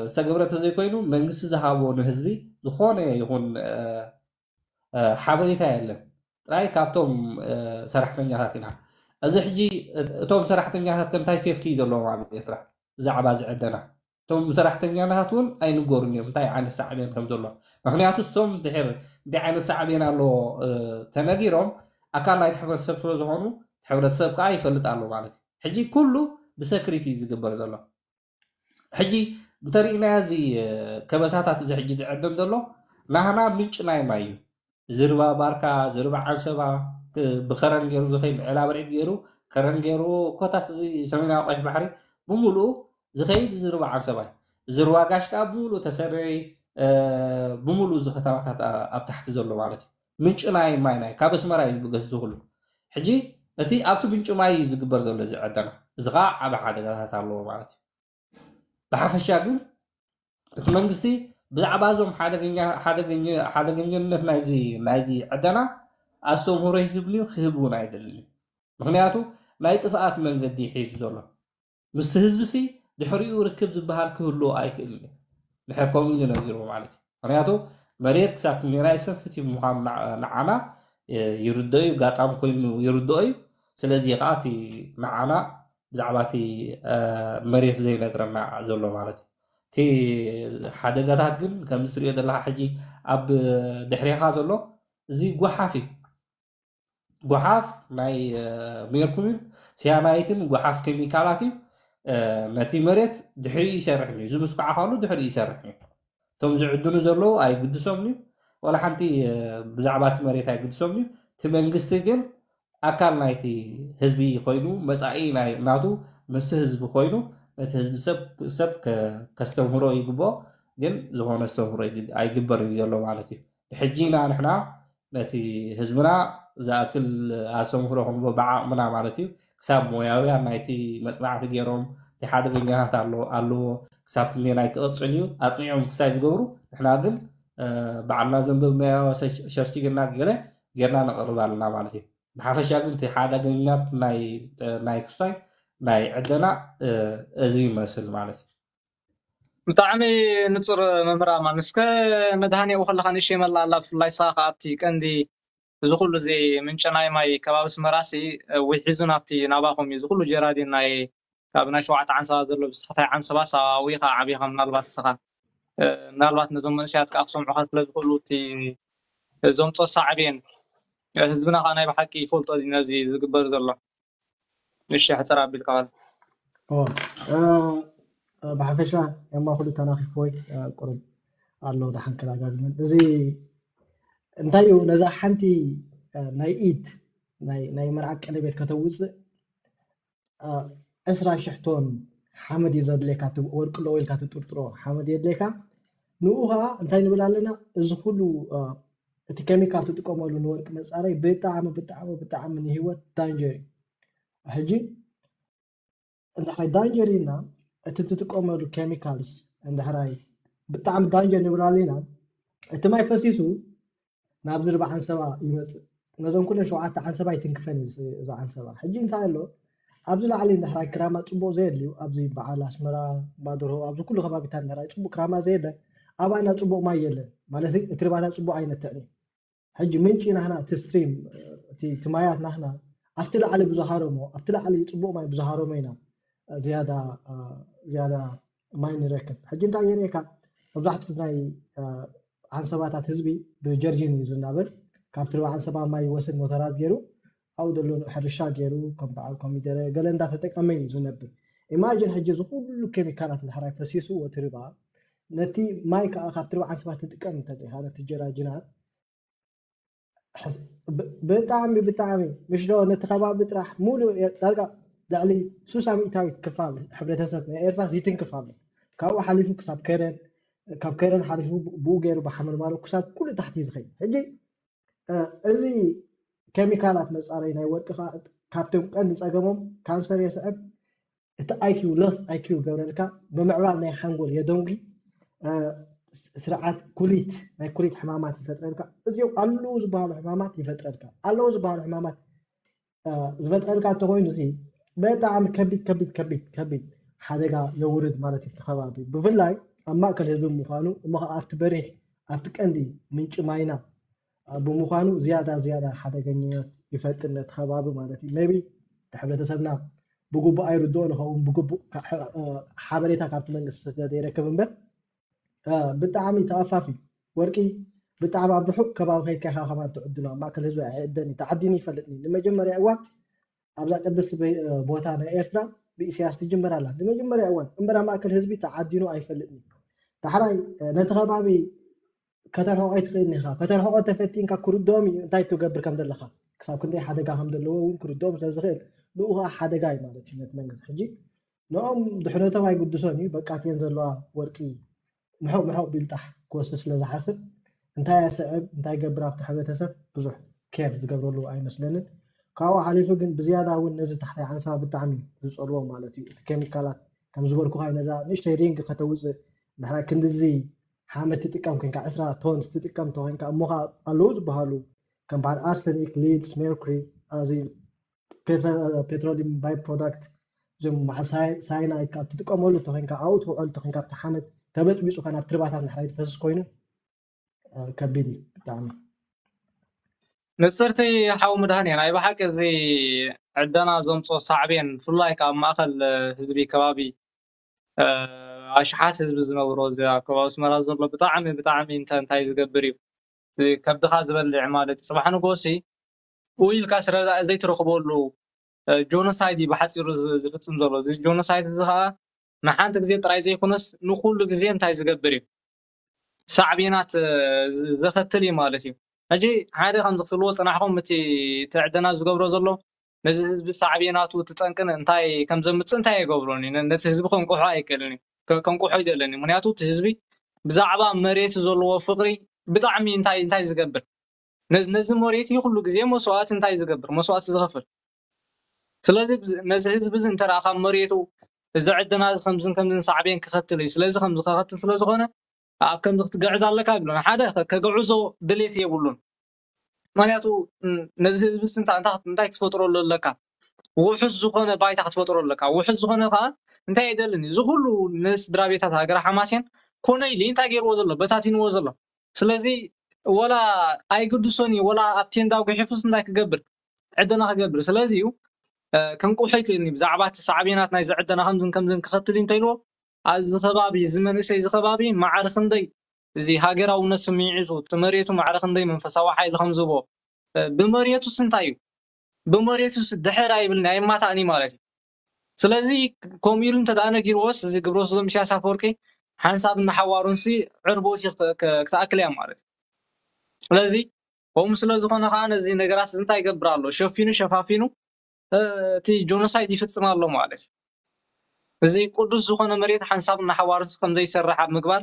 ዝተገብረ ተዘይኮይኑ መንግስቲ ዝሃቦ ንህዝቢ ዝኾነ ይኹን ሓበሬታ የለን። ጥራይ ካብቶም ሰራሕተኛታት ኢና። እዚ ሕጂ እቶም ሰራሕተኛታት ከ እንታይ ሴፍቲ እዩ ዘለዎም ኣብ ኤርትራ ብዛዕባ ዝዕደና? እቶም ሰራሕተኛታት እውን ኣይንገሩን እዮም እንታይ ዓይነት ሳዕቤን ከም ዘሎ። ምክንያቱ እሶም ድሕር እንታይ ዓይነት ሳዕቤን ኣለዎ ተነጊሮም ኣካል ናይቲ ሕብረተሰብ ስለ ዝኾኑ ሕብረተሰብ ከዓ ይፈልጥ ኣሎ ማለት እዩ። ሕጂ ኩሉ ብሰክሪት እዩ ዝግበር ዘሎ። ሕጂ እንተሪእናዮ እዚ ከበሳታት እዚ ሕጂ ዝዕደን ዘሎ ናህና ምንጭ ናይ ማይ እዩ። ዝርባ ባርካ፣ ዝርባ ዓንሰባ ብከረን ገይሩ ዝኸይድ ዕላበርዒድ ገይሩ ከረን ገይሩ ኮታስ እዚ ሰሜናዊ ቀይሕ ባሕሪ ብምሉኡ ዝኸይድ ዝርባ ዓንሰባ እዩ። ዝርባ ጋሽ ከዓ ብምሉኡ ተሰነይ ብምሉኡ እዚ ከተማታት ኣብ ታሕቲ ዘሎ ማለት እዩ። ምንጭ ናይ ማይ ናይ ካብ ኣስመራ እዩ ዝብገስ ዝኽሉ። ሕጂ እቲ ኣብቲ ምንጭ ማይ እዩ ዝግበር ዘሎ እዚ ዕደና። እዚ ከዓ ዓበ ሓደጋታት ኣለዎ ማለት እዩ። ብሓፈሻ ግን እቲ መንግስቲ ብዛዕባ እዞም ሓደገኛነት ናይዚ ዕደና ኣስተምህሮ ይህብን እዩ ክህብ እውን ኣይደልን እዩ። ምክንያቱ ናይ ጥፍኣት መንገዲ ሒዙ ዘሎ ምስቲ ህዝቢ ሲ ድሕሪኡ ርክብ ዝበሃል ክህልዎ ኣይክእልን እዩ። ድሕር ከምኡ ኢሉ ነጊርዎ ማለት እዩ። ምክንያቱ መሬት ክሳብ ክንደየናይ ሰንስቲቭ ምዃኑ ንዓና ይርድኦ እዩ፣ ጋጣም ኮይኑ ይርድኦ እዩ። ስለዚ ከዓ እቲ ንዓና ብዛዕባ እቲ መሬት ዘይነግረና ዘሎ ማለት እዩ። እቲ ሓደጋታት ግን ከምዚ ትሪኦ ዘለካ ሕጂ ኣብ ድሕሬኻ ዘሎ እዚ ጓሓፍ እዩ። ጓሓፍ ናይ ሜርኩሪን ሲያናይትን ጓሓፍ ኬሚካላት እዩ። ነቲ መሬት ድሕሪኡ ይሰርሕ እዩ። እዚ ምስኳዕ ከሉ ድሕሪኡ ይሰርሕ እዩ። እቶም ዝዕድኑ ዘለዉ ኣይግድሶምን እዩ። ዋላ ሓንቲ ብዛዕባ እቲ መሬት ኣይግድሶምን እዩ። እቲ መንግስቲ ግን ኣካል ናይቲ ህዝቢ ኮይኑ መፃኢ ናቱ ምስቲ ህዝቢ ኮይኑ ነቲ ህዝቢ ሰብ ሰብ ከስተምህሮ ይግብኦ። ግን ዝኾነ ኣስተምህሮ ኣይግበር እዩ ዘሎ ማለት እዩ። ብሕጂ ኢና ንሕና ነቲ ህዝብና ዝኣክል ኣስተምህሮ ክንቦ ብዓቕምና ማለት እዩ ክሳብ ሞያውያን ናይቲ መፅናዕቲ ገይሮም እቲ ሓደገኛታት ኣለዎ ክሳብ ክንደየናይ ክቕፅል እዩ ኣፅኒዖም ክሳይ ዝገብሩ ንሕና ግን ባዕልና ዘንበብናዮ ሸርሽግና ገለ ጌርና ነቕርብ ኣለና ማለት እዩ። ብሓፈሻ ግን እቲ ሓደገኛት ናይ ክስታይ ናይ ዕደና እዚ ይመስል ማለት እዩ። ብጣዕሚ ንፁር መምህር ኣማን። እስከ መድሃኔኡ ከለካ ንእሽተይ መላ ኣላ ብፍላይ ንስኻ ከኣ ኣብቲ ቀንዲ እዚ ኩሉ እዚ ምንጪ ናይ ማይ ከባቢ ኣስመራሲ ውሒዙ ናብቲ ናባኹም እዩ እዚ ኩሉ ጀራዲን ናይ ካብ ናይ ሸውዓተ ዓንሰባ ዘሎ ብዝተኸታይ ዓንሰባስ ኣብኡ ኢኻ ዓቢኻ ምናልባት ንስኻ ምናልባት ነዞም መንእሰያት ከዓ ክሰምዑኻ ስለ ዝኽእሉ እቲ ዘምፅኦ ሳዕቤን ህዝብና ከዓ ናይ ብሓቂ ይፈልጦ ድዩ ነዚ ዝግበር ዘሎ? እሺ ሕፅር ኣቢልካ በል። ብሓፈሻ ኤማ ኩሉ ተናኺፍዎ እዩ ቁሩብ ኣሎ ደሓን ከዳጋግመን እዚ እንታይ እዩ ነዛ ሓንቲ እ፣ ናይ ኢድ ናይ ናይ መርዓ ቀለቤት ከተውፅእ፣ እ፣ ዕስራ ሽሕ ቶን ሓመድ እዩ ዘድልየካ። እቲ ወርቂ ኣለዎ ኢልካ ትጥርጥሮ ሓመድ የድልየካ። ንኡ ከዓ እንታይ ንብል ኣለና? እዚ ኩሉ፣ እ፣ እቲ ኬሚካል ትጥቀመሉ ንወርቂ መፃረይ ብጣዕሚ ብጣዕሚ ብጣዕሚ ንህይወት ዳንጀር እዩ። ሕጂ እንድሕራይ ዳንጀር ኢልና እቲ ትጥቀመሉ ኬሚካልስ እንድሕራይ ብጣዕሚ ዳንጀር ንብል ኣለና፣ እቲ ማይ ፈሲሱ ናብዚ ርባ ዓንሰባ ይመፅእ። ነዞም ኩለን ሸውዓተ ዓንሰባ ይትንክፈን እዩ እዚ ዓንሰባ። ሕጂ እንታይ ኣሎ? ኣብዚ ላዕሊ እንድሕራይ ክራማ ፅቡቅ ዘየድልዩ፣ ኣብዚ በዓል ኣስመራ፣ ባድርሆ፣ ኣብዚ ኩሉ ከባቢታት እንድሕራይ ፅቡቅ ክራማ ዘየለ፣ ኣባና ፅቡቅ ማይ የለን ማለት እዩ። እቲ ርባታት ፅቡቅ ኣይነትዕን እዩ። ሕጂ ምንጪ ናህና እቲ ስትሪም፣ እቲ እቲ ማያት ናህና ኣብቲ ላዕሊ ብዝሃረሞ፣ ኣብቲ ላዕሊ ፅቡቅ ማይ ብዝሃረሞ ኢና ዝያዳ፣ ዝያዳ ማይ ንረክብ። ሕጂ እንታይ የርእየካ? መብዛሕትኡ ናይ ዓንሰባታት ህዝቢ ብጀርጂን እዩ ዝናበር። ካብቲ ርባ ዓንሰባ ማይ ይወስድ ሞተራት ገይሩ ኣብኡ ዘሎ ሕርሻ ገይሩ ከም በዓል ኮሚደረ ገለ እንዳተጠቀመ እዩ ዝነብር። ኢማጂን ሕጂ እዚ ኩሉ ኬሚካላት እንድሕራይ ፈሲስዎ እቲ ርባ ነቲ ማይ ከዓ ካብቲ ርባ ዓንሰባ ትጥቀም እንተሊካ ነቲ ጀራጂናት ብጣዕሚ ብጣዕሚ ምሽ ዶ ነቲ ከባቢ ጥራሕ ሙሉእ ዳርጋ ልዕሊ ሱሳ ሚእታዊት ክፋል ሕብረተሰብ ናይ ኤርትራ ይትንክፍ ኣሎ። ካብኡ ሓሊፉ ክሳብ ከረን፣ ካብ ከረን ሓሊፉ ብኡ ገይሩ ብሓመልማሎ ክሳብ ኩሉ ታሕቲ እዩ ዝኸይድ። ሕጂ እዚ ኬሚካላት መፃረይ ናይ ወርቂ ከዓ ካብቶም ቀንዲ ፀገሞም ካንሰር የስዕብ፣ እቲ ኣይኪው ሎስ ኣይኪው ይገብረልካ፣ ብምዕባል ናይ ሓንጎል የደንጉ፣ ስርዓት ኩሊት ናይ ኩሊት ሕማማት ይፈጥረልካ። እዚኦም ኣለዉ ዝበሃሉ ሕማማት ይፈጥረልካ። ኣለዉ ዝበሃሉ ሕማማት ዝፈጥረልካ እንተኮይኑ እዚ ብጣዕሚ ከቢድ ከቢድ ከቢድ ከቢድ ሓደጋ የውርድ ማለት እዩ። እቲ ከባቢ ብፍላይ ኣብ ማእከል ህዝቢ ምዃኑ እሞ ከዓ ኣብቲ በሪሕ ኣብቲ ቀንዲ ምንጪ ማይና ብምዃኑ ዝያዳ ዝያዳ ሓደገኛታት ይፈጥር ነቲ ከባቢ ማለት እዩ። ሜቢ ንሕብረተሰብና ብግቡእ ኣይርድኦ ንኸውን፣ ብግቡእ ሓበሬታ ካብቲ መንግስቲ ስለ ዘይረክብ እምበር ብጣዕሚ ተኣፋፊ ወርቂ ብጣዕሚ ኣብ ርሑቕ ከባቢ ከይድካ ኢኻ ከማን ትዕድኖ። ኣብ ማእከል ህዝቢ ኣይዕደን እዩ፣ ተዓዲኑ ይፈልጥኒ። ንመጀመርያ እዋን ኣብዛ ቅድስቲ ቦታ ናይ ኤርትራ ብኢሳያስ ትጅመር ኣላ። ንመጀመርያ እዋን እምበር ኣብ ማእከል ህዝቢ ተዓዲኑ ኣይፈልጥን እዩ። ዳሕራይ ነቲ ከባቢ ከተርሕቆ ኣይትኽእልን ኢኻ። ከተርሕቆ ተፈቲንካ ክርድኦም እዩ እንታይ ትገብር ከም ዘለኻ። ክሳብ ክንደይ ሓደጋ ከም ዘለዎ እውን ክርድኦም ስለ ዝኽእል ንኡ ከዓ ሓደጋ እዩ ማለት እዩ ነቲ መንግስቲ። ሕጂ ንኦም ድሕነቶም ኣይግድሶን እዩ። በቃ እተን ዘለዋ ወርቂ ምሕቕ ምሕቕ ቢልጣሕ ክወስድ ስለ ዝሓስብ እንታይ ኣስዕብ እንታይ ገብር ኣብቲ ሕብረተሰብ ብዙሕ ኬር ዝገብረሉ ኣይመስለንን። ካብኡ ሓሊፉ ግን ብዝያዳ እውን ነዚ ታሕታይ ዓንሰባ ብጣዕሚ ዝፀልዎ ማለት እዩ። እቲ ኬሚካላት ከም ዝበልኩኻ ነዛ ንእሽተይ ሪንግ ከተውፅእ ድሕራይ ክንድዚ ሓመድ ትጥቀም ኮንካ ዕስራ ቶንስ ትጥቀም ተኮንካ እሞ ከዓ ኣለዉ ዝበሃሉ ከም በዓል ኣርሰኒክ፣ ሊድስ፣ ሜርኩሪ፣ እዚ ፔትሮሊየም ባይ ፕሮዳክት እዞም በዓል ሳይናይድ ካብ ትጥቀመሉ ተኮንካ ኣብኡ ትውዕል ተኮንካ ኣብቲ ሓመድ ተበጥቢፁ ከ ናብ ትርባታት ንሕራይ ዝፈስስ ኮይኑ ከቢድ እዩ ብጣዕሚ። ንፅርቲ ሓው ምድሃን ናይ ብሓቂ እዚ ዕደና ዘምፅኦ ሳዕቤን ብፍላይ ካብ ማእኸል ህዝቢ ከባቢ ኣሽሓት ህዝቢ ዝነብሮ እዚ ኣብ ከባቢ ኣስመራ ዘሎ ብጣዕሚ ብጣዕሚ እንታይ እንታይ ዝገብር እዩ ከብድኻ ዝበልዕ ማለት እዩ። ፅባሕ ንጎሲ ውይ ኢልካ ስረ ዘይትረኽበሉ ጆኖሳይድ እዩ ብሓፂሩ ዝፍፅም ዘሎ። እዚ ጆኖሳይድ እዚ ከዓ ንሓንቲ ግዜ ጥራይ ዘይኮነስ ንኩሉ ግዜ እንታይ ዝገብር እዩ ሳዕቤናት ዘኸትል እዩ ማለት እዩ። ሕጂ ሓደ ከምዚ ክትብልዎ ፅናሕኩም እቲ ዕደና ዝገብሮ ዘሎ ነዚ ህዝቢ ሳዕቤናቱ እቲ ጠንቅን እንታይ ከም ዘምፅእ እንታይ ኣይገብሮን እዩ። ነቲ ህዝቢ ከንቅሖ ኣይክእልን እዩ። ከንቅሖ ኣይደለን እዩ። ምክንያቱ እቲ ህዝቢ ብዛዕባ መሬት ዘለዎ ፍቅሪ ብጣዕሚ እንታይ እንታይ ዝገብር ነዚ መሬት እዩ ኩሉ ግዜ መስዋእቲ እንታይ ዝገብር መስዋእቲ ዝኸፍል። ስለዚ ነዚ ህዝቢ እዚ እንተ ካብ መሬቱ እዚ ዕደና እዚ ከምዝን ከምዝን ሳዕቤን ክኸትል እዩ። ስለዚ ከምዚ ክኸትል ስለ ዝኾነ ኣብ ከምዚ ክትግዕዝ ኣለካ ይብሎ። ሓደ ከግዕዞ ድሌት የብሉን። ምክንያቱ ነዚ ህዝቢ እንታይ ክትፈጥረሉ ኣለካ? ውሑስ ዝኾነ ባይታ ክትፈጥሮ ኣለካ። ውሑስ ዝኾነ ከዓ እንታይ የደልን እዩ። እዚ ኩሉ ንስድራ ቤታት ሃገረ ሓማሴን ኮነ ኢሉ እንታይ ገይርዎ ዘሎ በታቲንዎ ዘሎ። ስለዚ ወላ ኣይግድሶን እዩ ወላ ኣብ ቴንዳ ጉሒፉስ እንታይ ክገብር ዕደና ክገብር። ስለዚ እዩ ክንቁሕ ይክእልኒ ብዛዕባ እቲ ሳዕቤናት ናይዚ ዕደና ከምዝን ከምዝን ክኸትል እንተኢልዎ ኣብዚ ከባቢ እዚ መንእሰይ እዚ ከባቢ ማዕረ ክንደይ እዚ ሃገራውነት ስምዒቱ እቲ መሬቱ ማዕረ ክንደይ መንፈሳዊ ሓይሊ ከም ዝህቦ ብመሬቱስ እንታይ እዩ ብመሬቱስ ድሕር ኣይብልን ኣይማታእን እዩ ማለት እዩ። ስለዚ ከምኡ ኢሉ እንተ ነጊርዎስ እዚ ግብረ ሰዶም ኢሳያስ ኣፈወርቂ ሓንሳብ ንሓዋሩንሲ ዕርቦት ክትኣክል እያ ማለት እዩ። ስለዚ ከምኡ ስለ ዝኾነ ከዓ ነዚ ነገራት እዚ እንታይ ይገብር ኣሎ? ሸፊኑ ሸፋፊኑ እቲ ጆኖሳይድ ይፍፅም ኣሎ ማለት እዩ። እዚ ቅዱስ ዝኾነ መሬት ሓንሳብ እናሓዋርስ ከም ዘይሰርሕ ኣብ ምግባር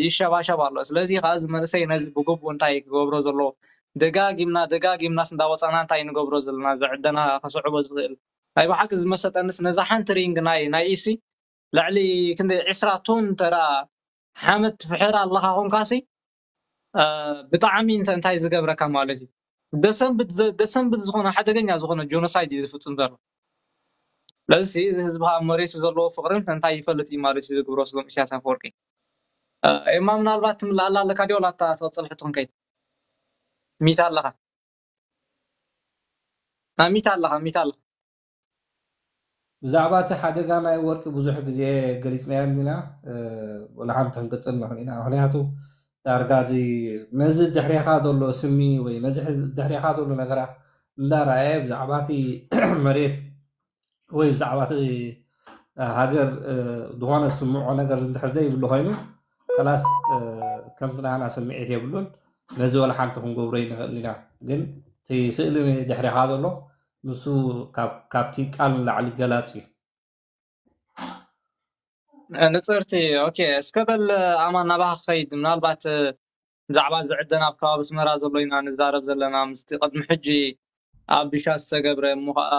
ይሸባሸብ ኣሎ። ስለዚ ከዓ እዚ መንእሰይ ነዚ ብግቡእ እንታይ ክገብሮ ዘለዎ፣ ደጋጊምና ደጋጊምናስ እንዳወፃና እንታይ ንገብሮ ዘለና፣ ዝዕደና ከስዕቦ ዝኽእል ናይ ብሓቂ ዝመሰጠንስ ነዛ ሓንቲ ሪንግ ናይ ናይ ኢሲ ልዕሊ ክንደይ ዕስራ ቶን ተራ ሓመድ ትፍሕር ኣለኻ ኮንካሲ ብጣዕሚ እንታይ ዝገብረካ ማለት እዩ። ደሰንብት ዝኾነ ሓደገኛ ዝኾነ ጆኖሳይድ እዩ ዝፍፅም ዘሎ። ስለዚ እዚ ህዝቢ ኣብ መሬቱ ዘለዎ ፍቅርን እንታይ ይፈልጥ እዩ ማለት እዩ ዝግብሮ ስሎም ኢሳያስ ኣፈወርቂ። ኤማ ምናልባት ትምላኣላ ኣለካ ዲዮ ላታ ትቐፅል ሕቶ ክንከይድ ሚት ኣለኻ ሚት ኣለኻ ሚት ኣለኻ ብዛዕባ እቲ ሓደጋ ናይ ወርቂ ብዙሕ ግዜ ገሊፅናዮ ኢና። ወላ ሓንቲ ክንቅፅል ንኽእል ኢና። ምክንያቱ ዳርጋ እዚ ነዚ ድሕሬኻ ዘሎ ስሚ ወይ ነዚ ድሕሬኻ ዘሎ ነገራት እንዳረኣየ ብዛዕባ እቲ መሬት ወይ ብዛዕባ እቲ ሃገር ዝኾነ ስምዖ ነገር እንድሕር ዘይብሉ ኮይኑ ከላስ ከምቲ ናና ስምዒት የብሉን። ነዚ ወላ ሓንቲ ክንገብሮ ይንኽእል ኢና። ግን እቲ ስእሊ ድሕሬኻ ዘሎ ንሱ ካብቲ ቃል ንላዕሊ ገላፂ እዩ። ንፅርቲ ኦኬ እስከ በል ኣማን ናባኻ ክኸይድ ምናልባት ብዛዕባ ዝዕደና ኣብ ከባቢ ኣስመራ ዘሎ ኢና ንዛረብ ዘለና ምስቲ ቅድሚ ሕጂ ኣብ ቢሻ ዝተገብረ እሞ ከዓ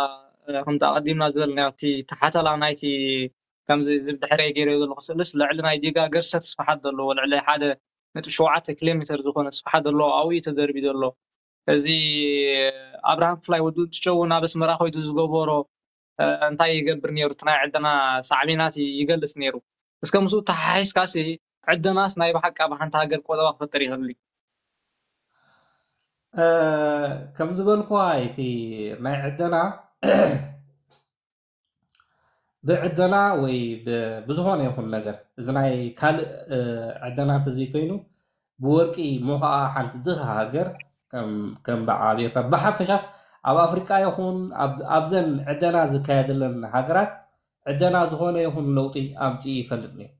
ከምቲ ኣቐዲምና ዝበልናዮ እቲ ተሓተላ ናይቲ ከምዚ እዚ ብድሕረይ ገይረዮ ዘለኹ ስእልስ ልዕሊ ናይ ዲጋ ገርሰት ስፍሓት ዘለዎ ልዕሊ ሓደ ነጥቢ ሸውዓተ ኪሎ ሜትር ዝኾነ ስፍሓት ዘለዎ ኣብኡ እዩ ተደርቢ ዘሎ እዚ ኣብርሃም ክፍላይ ወዲ እንትሸው ናብ ኣስመራ ኮይዱ ዝገበሮ እንታይ ይገብር ነይሩ እቲ ናይ ዕደና ሳዕቤናት ይገልፅ ነይሩ እስከ ምስኡ ተሓሒዝካሲ ዕደናስ ናይ ብሓቂ ኣብ ሓንቲ ሃገር ቆጠባ ክፈጥር ይኽእል ከም ዝበልኩዋ እቲ ናይ ዕደና ብዕደና ወይ ብዝኾነ ይኹን ነገር እዚ ናይ ካልእ ዕደና እንተዘይኮይኑ ብወርቂ ሞ ከዓ ሓንቲ ድኻ ሃገር ከም በዓ ኣብ ኤርትራ ብሓፈሻስ ኣብ ኣፍሪቃ ይኹን ኣብዘን ዕደና ዝካየደለን ሃገራት ዕደና ዝኾነ ይኹን ለውጢ ኣምፅኡ ይፈልጥ ነይሩ።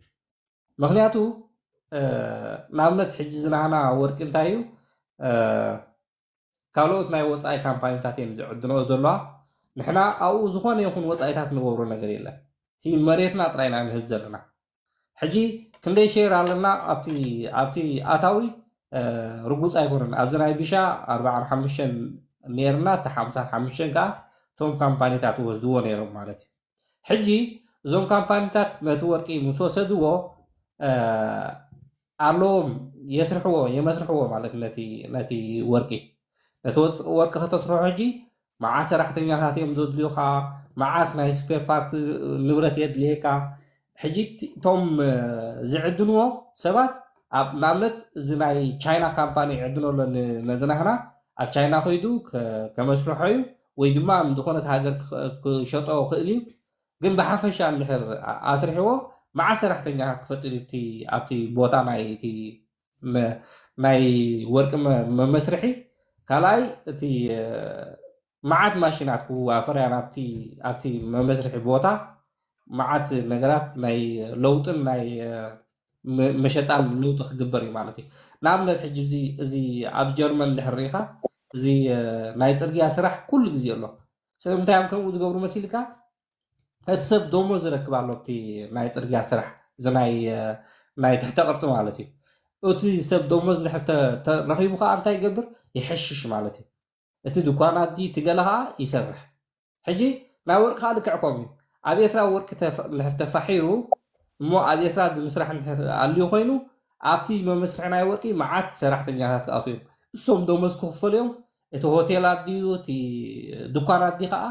ምክንያቱ ንኣብነት ሕጂ ዝናህና ወርቂ እንታይ እዩ ካልኦት ናይ ወፃኢ ካምፓኒታት እየን ዝዕድነኦ ዘለዋ። ንሕና ኣብኡ ዝኾነ ይኹን ወፃኢታት ንገብሮ ነገር የለን። እቲ መሬትና ጥራይ ኢና ንህብ ዘለና። ሕጂ ክንደይ ሼር ኣለና ኣብቲ ኣብቲ ኣታዊ ርጉፅ ኣይኮነን። ኣብዚ ናይ ቢሻ ኣርባዓን ሓሙሽተን ነይርና፣ እቲ ሓምሳን ሓሙሽተን ከዓ እቶም ካምፓኒታት ወስድዎ ነይሮም ማለት እዩ። ሕጂ እዞም ካምፓኒታት ነቲ ወርቂ ምስ ወሰድዎ ኣለዎም የስርሕዎ የመስርሕዎ ማለት ነቲ ነቲ ወርቂ ነቲ ወርቂ ከተስርሖ ሕጂ መዓት ሰራሕተኛታት እዮም ዘድልዩካ፣ መዓት ናይ ስፔር ፓርት ንብረት የድልየካ። ሕጂ እቶም ዝዕድንዎ ሰባት ንኣብነት እዚ ናይ ቻይና ካምፓኒ ይዕድኖ ኣሎ ነዝናህና ኣብ ቻይና ከይዱ ከመስርሖ እዩ ወይ ድማ ዝኾነት ሃገር ክሸጦ ክእል እዩ። ግን ብሓፈሻ እንድሕር ኣስርሕዎ መዓት ሰራሕተኛታት ክፈጥር እዩ ኣብቲ ቦታ ናይ ናይ ወርቂ መመስርሒ። ካልኣይ እቲ መዓት ማሽናት ክዋፈር እያ ኣብቲ መመስርሒ ቦታ መዓት ነገራት ናይ ለውጥን ናይ መሸጣን ለውጢ ክግበር እዩ ማለት እዩ። ንኣብነት ሕጂ እዚ ኣብ ጀርመን እንድሕር ርኢኻ እዚ ናይ ፅርግያ ስራሕ ኩሉ ግዜ ኣሎ። ስለምንታይ እዮም ከምኡ ዝገብሩ መሲልካ? እቲ ሰብ ደሞዝ ይረክብ ኣሎ ኣብቲ ናይ ፅርግያ ስራሕ እዚ ናይ ናይ ትሕተ ቅርፂ ማለት እዩ። እቲ ሰብ ደሞዝ እንድሕር ረኺቡ ከዓ እንታይ ይገብር? ይሕሽሽ ማለት እዩ። እቲ ድኳናት ድዩ እቲ ገለ ከዓ ይሰርሕ። ሕጂ ናይ ወርቂ ከዓ ልክዕ ከምኡ እዩ። ኣብ ኤርትራ ወርቂ እንድሕር ተፋሒሩ እሞ ኣብ ኤርትራ ዝምስራሕ እንድሕር ኣልዩ ኮይኑ ኣብቲ መመስርሒ ናይ ወርቂ መዓት ሰራሕተኛታት ክኣትዉ እዮም። እሶም ደሞዝ ክኽፈሉ እዮም። እቲ ሆቴላት ድዩ እቲ ድኳናት ድዩ ከዓ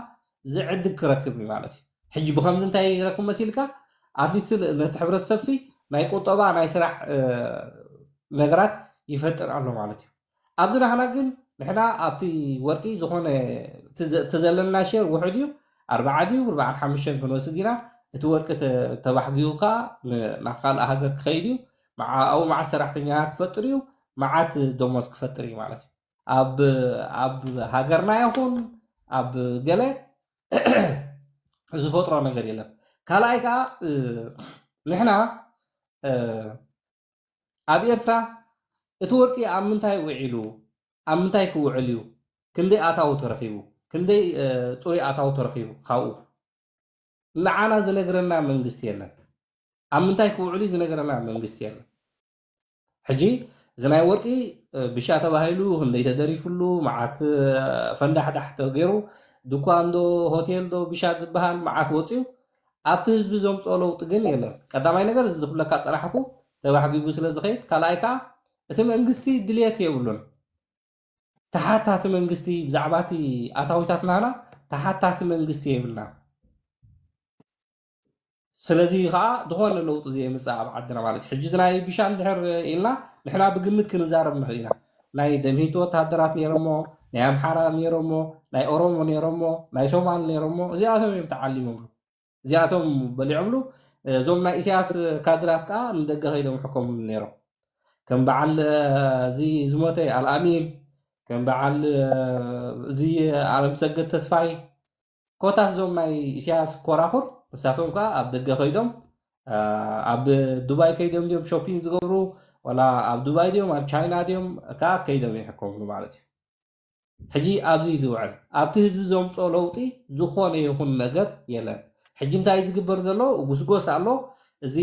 ዝዕድግ ክረክብ እዩ ማለት እዩ። ሕጂ ብከምዚ እንታይ ይረክብ መሲልካ ኣትሊስት ነቲ ሕብረተሰብ ሲ ናይ ቁጠባ ናይ ስራሕ ነገራት ይፈጥር ኣሎ ማለት እዩ። ኣብዚ ናህና ግን ንሕና ኣብቲ ወርቂ ዝኾነ እቲ ዘለና ሼር ውሕድ እዩ ኣርባዓ ድዩ ኣርባዓን ሓሙሽተን ክንወስድ ኢና። እቲ ወርቂ ተባሕጊኡ ከዓ ናብ ካልእ ሃገር ክኸይድ እዩ። ኣብኡ መዓት ሰራሕተኛታት ክፈጥር እዩ፣ መዓት ደሞዝ ክፈጥር እዩ ማለት እዩ። ኣብ ኣብ ሃገርና ይኹን ኣብ ገለ ዝፈጥሮ ነገር የለን። ካልኣይ ከዓ ንሕና ኣብ ኤርትራ እቲ ወርቂ ኣብ ምንታይ ውዒሉ ኣብ ምንታይ ክውዕል እዩ? ክንደይ ኣታዊ ተረኺቡ? ክንደይ ጽሩይ ኣታዊ ተረኺቡ ካብኡ? ንዓና ዝነግረና መንግስቲ የለን። ኣብ ምንታይ ክውዕል እዩ ዝነግረና መንግስቲ የለን። ሕጂ እዚ ናይ ወርቂ ብሻ ተባሂሉ ክንደይ ተደሪፍሉ፣ መዓት ፈንዳሕዳሕ ተገይሩ፣ ድኳን ዶ ሆቴል ዶ ብሻ ዝበሃል መዓት ወፅዩ፣ ኣብቲ ህዝቢ ዘምፅኦ ለውጢ ግን የለን። ቀዳማይ ነገር እዚ ዝብለካ ፀናሕኩ ተባሕጊጉ ስለ ዝኸይድ፣ ካልኣይ ከዓ እቲ መንግስቲ ድልየት የብሉን። ተሓታቲ መንግስቲ ብዛዕባ እቲ ኣታዊታት ናህና ተሓታቲ መንግስቲ የብልና። ስለዚ ከዓ ዝኾነ ለውጢ ዘየምፅእ ኣብ ዓድና ማለት እዩ። ሕጂ ናይ ቢሻ እንድሕር ኢልና ንሕና ብግምት ክንዛረብ ንኽእል ኢና። ናይ ደምሂት ወታደራት ነይሮሞ፣ ናይ ኣምሓራ ነይሮሞ፣ ናይ ኦሮሞ ነይሮሞ፣ ናይ ሶማል ነይሮሞ፣ እዚኣቶም እዮም ተዓሊሞምሉ። እዚኣቶም በሊዖምሉ። እዞም ናይ ኢሳያስ ካድራት ከዓ ንደገ ከይዶም ሕኮምሉ ነይሮም። ከም በዓል እዚ ዝሞተ ኣልኣሚን፣ ከም በዓል እዚ ኣለም ሰገድ ተስፋይ፣ ኮታስ እዞም ናይ ኢሳያስ ኮራኹር ንሳቶም ከዓ ኣብ ደገ ከይዶም ኣብ ዱባይ ከይዶም ድዮም ሾፒንግ ዝገብሩ፣ ወላ ኣብ ዱባይ ድዮም ኣብ ቻይና ድዮም ከዓ ከይዶም ይሕከምሉ ማለት እዩ። ሕጂ ኣብዚ እዩ ዝውዕል። ኣብቲ ህዝቢ ዘምፅኦ ለውጢ ዝኾነ ይኹን ነገር የለን። ሕጂ እንታይ ዝግበር ዘሎ? ጉስጎስ ኣሎ። እዚ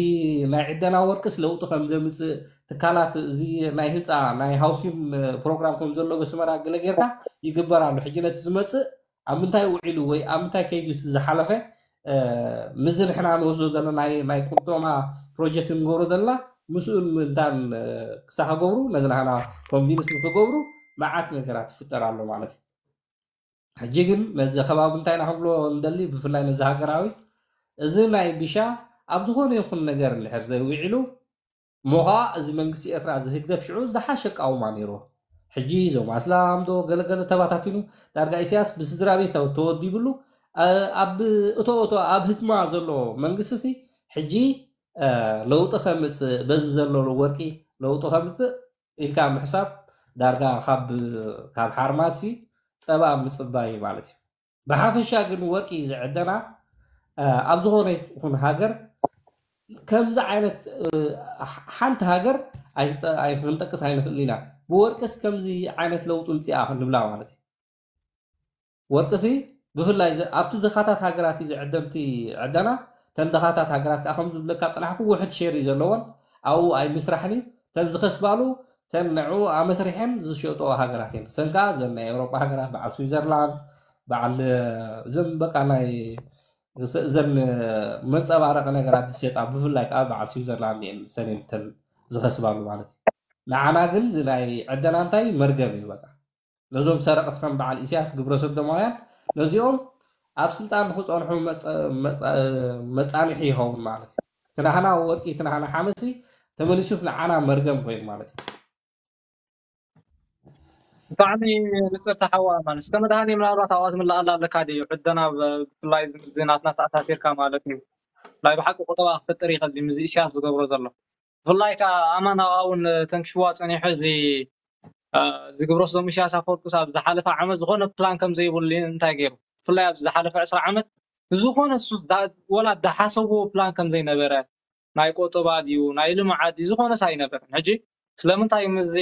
ናይ ዕደና ወርቅስ ለውጢ ከም ዘምፅእ፣ ትካላት እዚ ናይ ህንፃ ናይ ሃውሲንግ ፕሮግራም ከም ዘሎ በስመራ ገለ ጌርካ ይግበር ኣሎ። ሕጂ ነቲ ዝመፅእ ኣብ ምንታይ ውዒሉ ወይ ኣብ ምንታይ ከይዱ እቲ ዝሓለፈ፣ ምዚ ንሕና ንወስዶ ዘለና ናይ ቁጠማ ፕሮጀክት ንገብሮ ዘለና ምስኡን ምእንታን ክሳ ክገብሩ፣ ነዚ ናህና ኮንቪንስ ንክገብሩ መዓት ነገራት ይፍጠር ኣሎ ማለት እዩ። ሕጂ ግን ነዚ ከባቢ እንታይ ኢና ክንብሎ እንደሊ፣ ብፍላይ ነዚ ሃገራዊ፣ እዚ ናይ ቢሻ ኣብ ዝኾነ ይኹን ነገር እንድሕር ዘይውዒሉ፣ እሞ ኸዓ እዚ መንግስቲ ኤርትራ እዚ ህግደፍ ሽዑ ዝሓሸ ኣቃውማ ነይርዎ። ሕጂ እዞም ኣስላም ዶ ገለገለ ተባታቲኑ፣ ዳርጋ ኢሳያስ ብስድራ ቤት ተወዲብሉ፣ ኣብ እቶ እቶ ኣብ ህትማ ዘሎ መንግስቲ ሲ ሕጂ ለውጢ ከምፅእ፣ በዚ ዘሎ ወርቂ ለውጢ ከምፅእ ኢልካ ምሕሳብ ዳርጋ ካብ ካብ ሓርማሲ ፀባ ምፅባይ ማለት እዩ። ብሓፈሻ ግን ወርቂ ዝዕደና ኣብ ዝኾነ ይኹን ሃገር ከምዚ ዓይነት ሓንቲ ሃገር ኣይክንጠቅስ ኣይንኽእል ኢና። ብወርቅስ ከምዚ ዓይነት ለውጢ ምፅኣ ክንብላ ማለት እዩ። ወርቅሲ ብፍላይ ኣብቲ ድኻታት ሃገራት እዩ ዝዕደንቲ ዕደና። ተን ድኻታት ሃገራት ከዓ ከም ዝብለካ ፅናሕኩ ውሕድ ሼር እዩ ዘለዎን ኣብኡ ኣይምስራሕን እዩ። ተን ዝኸስባሉ ተን ንዑ ኣመስሪሐን ዝሸጥኦ ሃገራት እየን። ሰን ከዓ ዘን ናይ ኤውሮጳ ሃገራት በዓል ስዊዘርላንድ በዓል እዞም በቃ ናይ እዘን መንፀባረቂ ነገራት ዝሸጣ ብፍላይ ከዓ በዓል ስዊዘርላንድ እየን ሰኔን ተን ዝኸስባሉ ማለት እዩ። ንዓና ግን እዚ ናይ ዕደና እንታይ መርገም እዩ በቃ። ነዞም ሰረቕቲ ከም በዓል ኢሳያስ ግብረ ሰዶማውያን ነዚኦም ኣብ ስልጣን ንክፀንሑ መፃንሒ ይኸውን ማለት እዩ። ትናህና ወርቂ ትናህና ሓመሲ ተመሊሱ ንዓና መርገም ኮይኑ ማለት እዩ። ብጣዕሚ ንፅርቲ ሓዋ ማለት እስከ መድሃኒ ምናልባት ኣብኣ ትምላኣላ ኣለካ ድዩ ዕደና ብፍላይ እዚ ናትና ተኣሳሲርካ ማለት እዩ ናይ ብሓቂ ቁጠባ ክፍጥር ይኽእል ምስ ኢሳያስ ዝገብሮ ዘሎ ብፍላይ ከዓ ኣማን ኣብኣ እውን ተንክሽዋ ፀኒሑ እዚ ዝግብሮ ስሎም ኢሳያስ ኣፈወርቂ ኣብ ዝሓለፈ ዓመት ዝኾነ ፕላን ከም ዘይብሉ እንታይ ገይሩ ብፍላይ ኣብዚ ዝሓለፈ ዕስራ ዓመት ዝኾነ እሱ ወላ ዝሓሰብዎ ፕላን ከም ዘይነበረ ናይ ቆጠባ ድዩ ናይ ልምዓት ድዩ ዝኾነስ ኣይነበረን ሕጂ ስለምንታይ እዩ ምስዚ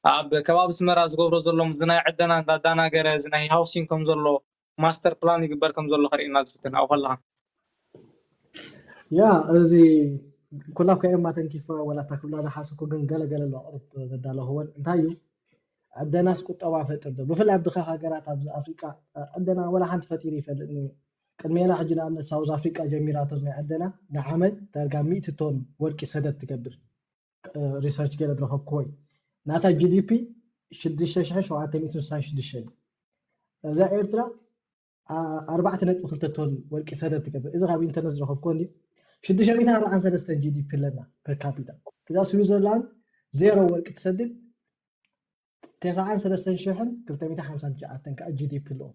ኣብ ከባቢ ስመራ ዝገብሮ ዘሎ ምስዚ ናይ ዕደና እንዳዳናገረ እዚ ናይ ሃውሲንግ ከም ዘሎ ማስተር ፕላን ይግበር ከም ዘሎ ከርእየና ዝፍትን ኣብኡ ከለካ ያ እዚ ኩላብ ከየማ ተንኪፈ ወላ እታ ክብላ ዝሓሰብኩ ግን ገለ ገለ ኣሎ ቅርብ ዘዳለኽወን እንታይ እዩ ዕደናስ ቁጠባ ፈጥር ዶ ብፍላይ ኣብ ድኻ ሃገራት ኣብዚ ኣፍሪቃ ዕደና ወላ ሓንቲ ፈጢሩ ይፈልጥ ቅድሜና ሕጂ ንኣብነት ሳውዝ ኣፍሪቃ ጀሚራቶ ናይ ዕደና ንዓመት ዳርጋ ሚእቲ ቶን ወርቂ ሰደድ ትገብር ሪሰርች ገለ ዝረኸብክዎ እዩ ናታ ጂዲፒ ሽዱሽተ ሽሕን ሸውዓተ ሚእትን ስሳን ሽዱሽተን እዩ እዛ ኤርትራ ኣርባዕተ ነጥቢ ክልተ ቶን ወርቂ ሰደድ ትገብር እዚ ካብ ኢንተርነት ዝረኸብክዎ እንዲ ሽዱሽተ ሚእትን ኣርባዓን ሰለስተን ጂዲፒ ኣለና ፐር ካፒታ እዛ ስዊዘርላንድ ዜሮ ወርቂ ትሰድድ ተስዓን ሰለስተን ሽሕን ክልተ ሚእትን ሓምሳን ትሽዓተን ከዓ ጂዲፒ ኣለዎ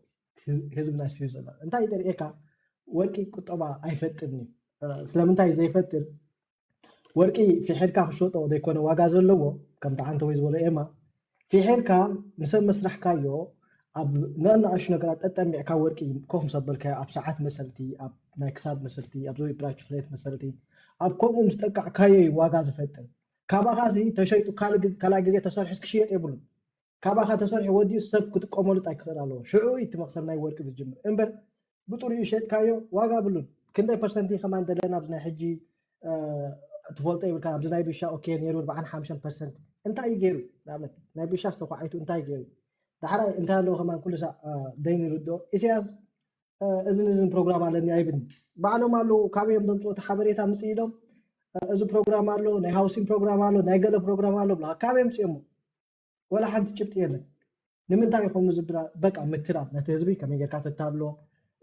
ህዝቢ ናይ ስዊዘርላንድ እንታይ ይደርእየካ ወርቂ ቁጠባ ኣይፈጥርን እዩ ስለምንታይ ዘይፈጥር ወርቂ ፊሒርካ ክሸጦ ዘይኮነ ዋጋ ዘለዎ ከምቲ ዓንተ ወይ ዝበሎ ኤማ ፊሒርካ ንሰብ መስራሕካዮ ኣብ ንኣናእሹ ነገራት ጠጠሚዕካ ወርቂ ኮፍ ምስ ኣበልካዮ ኣብ ሰዓት መሰልቲ ኣብ ናይ ክሳድ መሰልቲ ኣብ ዘዊ ብራችክሌት መሰልቲ ኣብ ከምኡ ምስ ጠቃዕካዮ እዩ ዋጋ ዝፈጥር ካባኻ ሲ ተሸይጡ ካልእ ግዜ ተሰሪሑስ ክሽየጥ የብሉን ካባኻ ተሰሪሑ ወዲኡ ሰብ ክጥቀመሉ ጥራይ ክኽእል ኣለዎ። ሽዑ እዩ እቲ መኽሰብ ናይ ወርቂ ዝጅምር እምበር ብጥሪኡ ሸጥካዮ ዋጋ ብሉን። ክንደይ ፐርሰንቲ ከማን ደለና ኣብዚ ናይ ሕጂ ትፈልጦ ይብልካ ኣብዚ ናይ ብሻ ኦኬ ነይሩ ኣርባዓን ሓሙሽተን ፐርሰንት እንታይ እዩ ገይሩ? ንኣብነት ናይ ብሻ ዝተኳዓይቱ እንታይ ገይሩ? ዳሕራይ እንታይ ኣለዎ ከማን ኩሉ ሳዕ ደይኑ ይርድኦ። ኢሳያስ እዝን እዝን ፕሮግራም ኣለኒ ኣይብልኒ። ባዕሎም ኣለዉ ካበይ እዮም ዘምፅኡ እቲ ሓበሬታ ምፅእ ኢሎም እዚ ፕሮግራም ኣሎ ናይ ሃውሲንግ ፕሮግራም ኣሎ ናይ ገለ ፕሮግራም ኣሎ ብላ ካበይ ምፅኦሞ? ወላ ሓንቲ ጭብጢ የለን። ንምንታይ ኢኹም ዝብላ በቃ ምትላል ነቲ ህዝቢ ከመይ ጌርካ ተታልሎ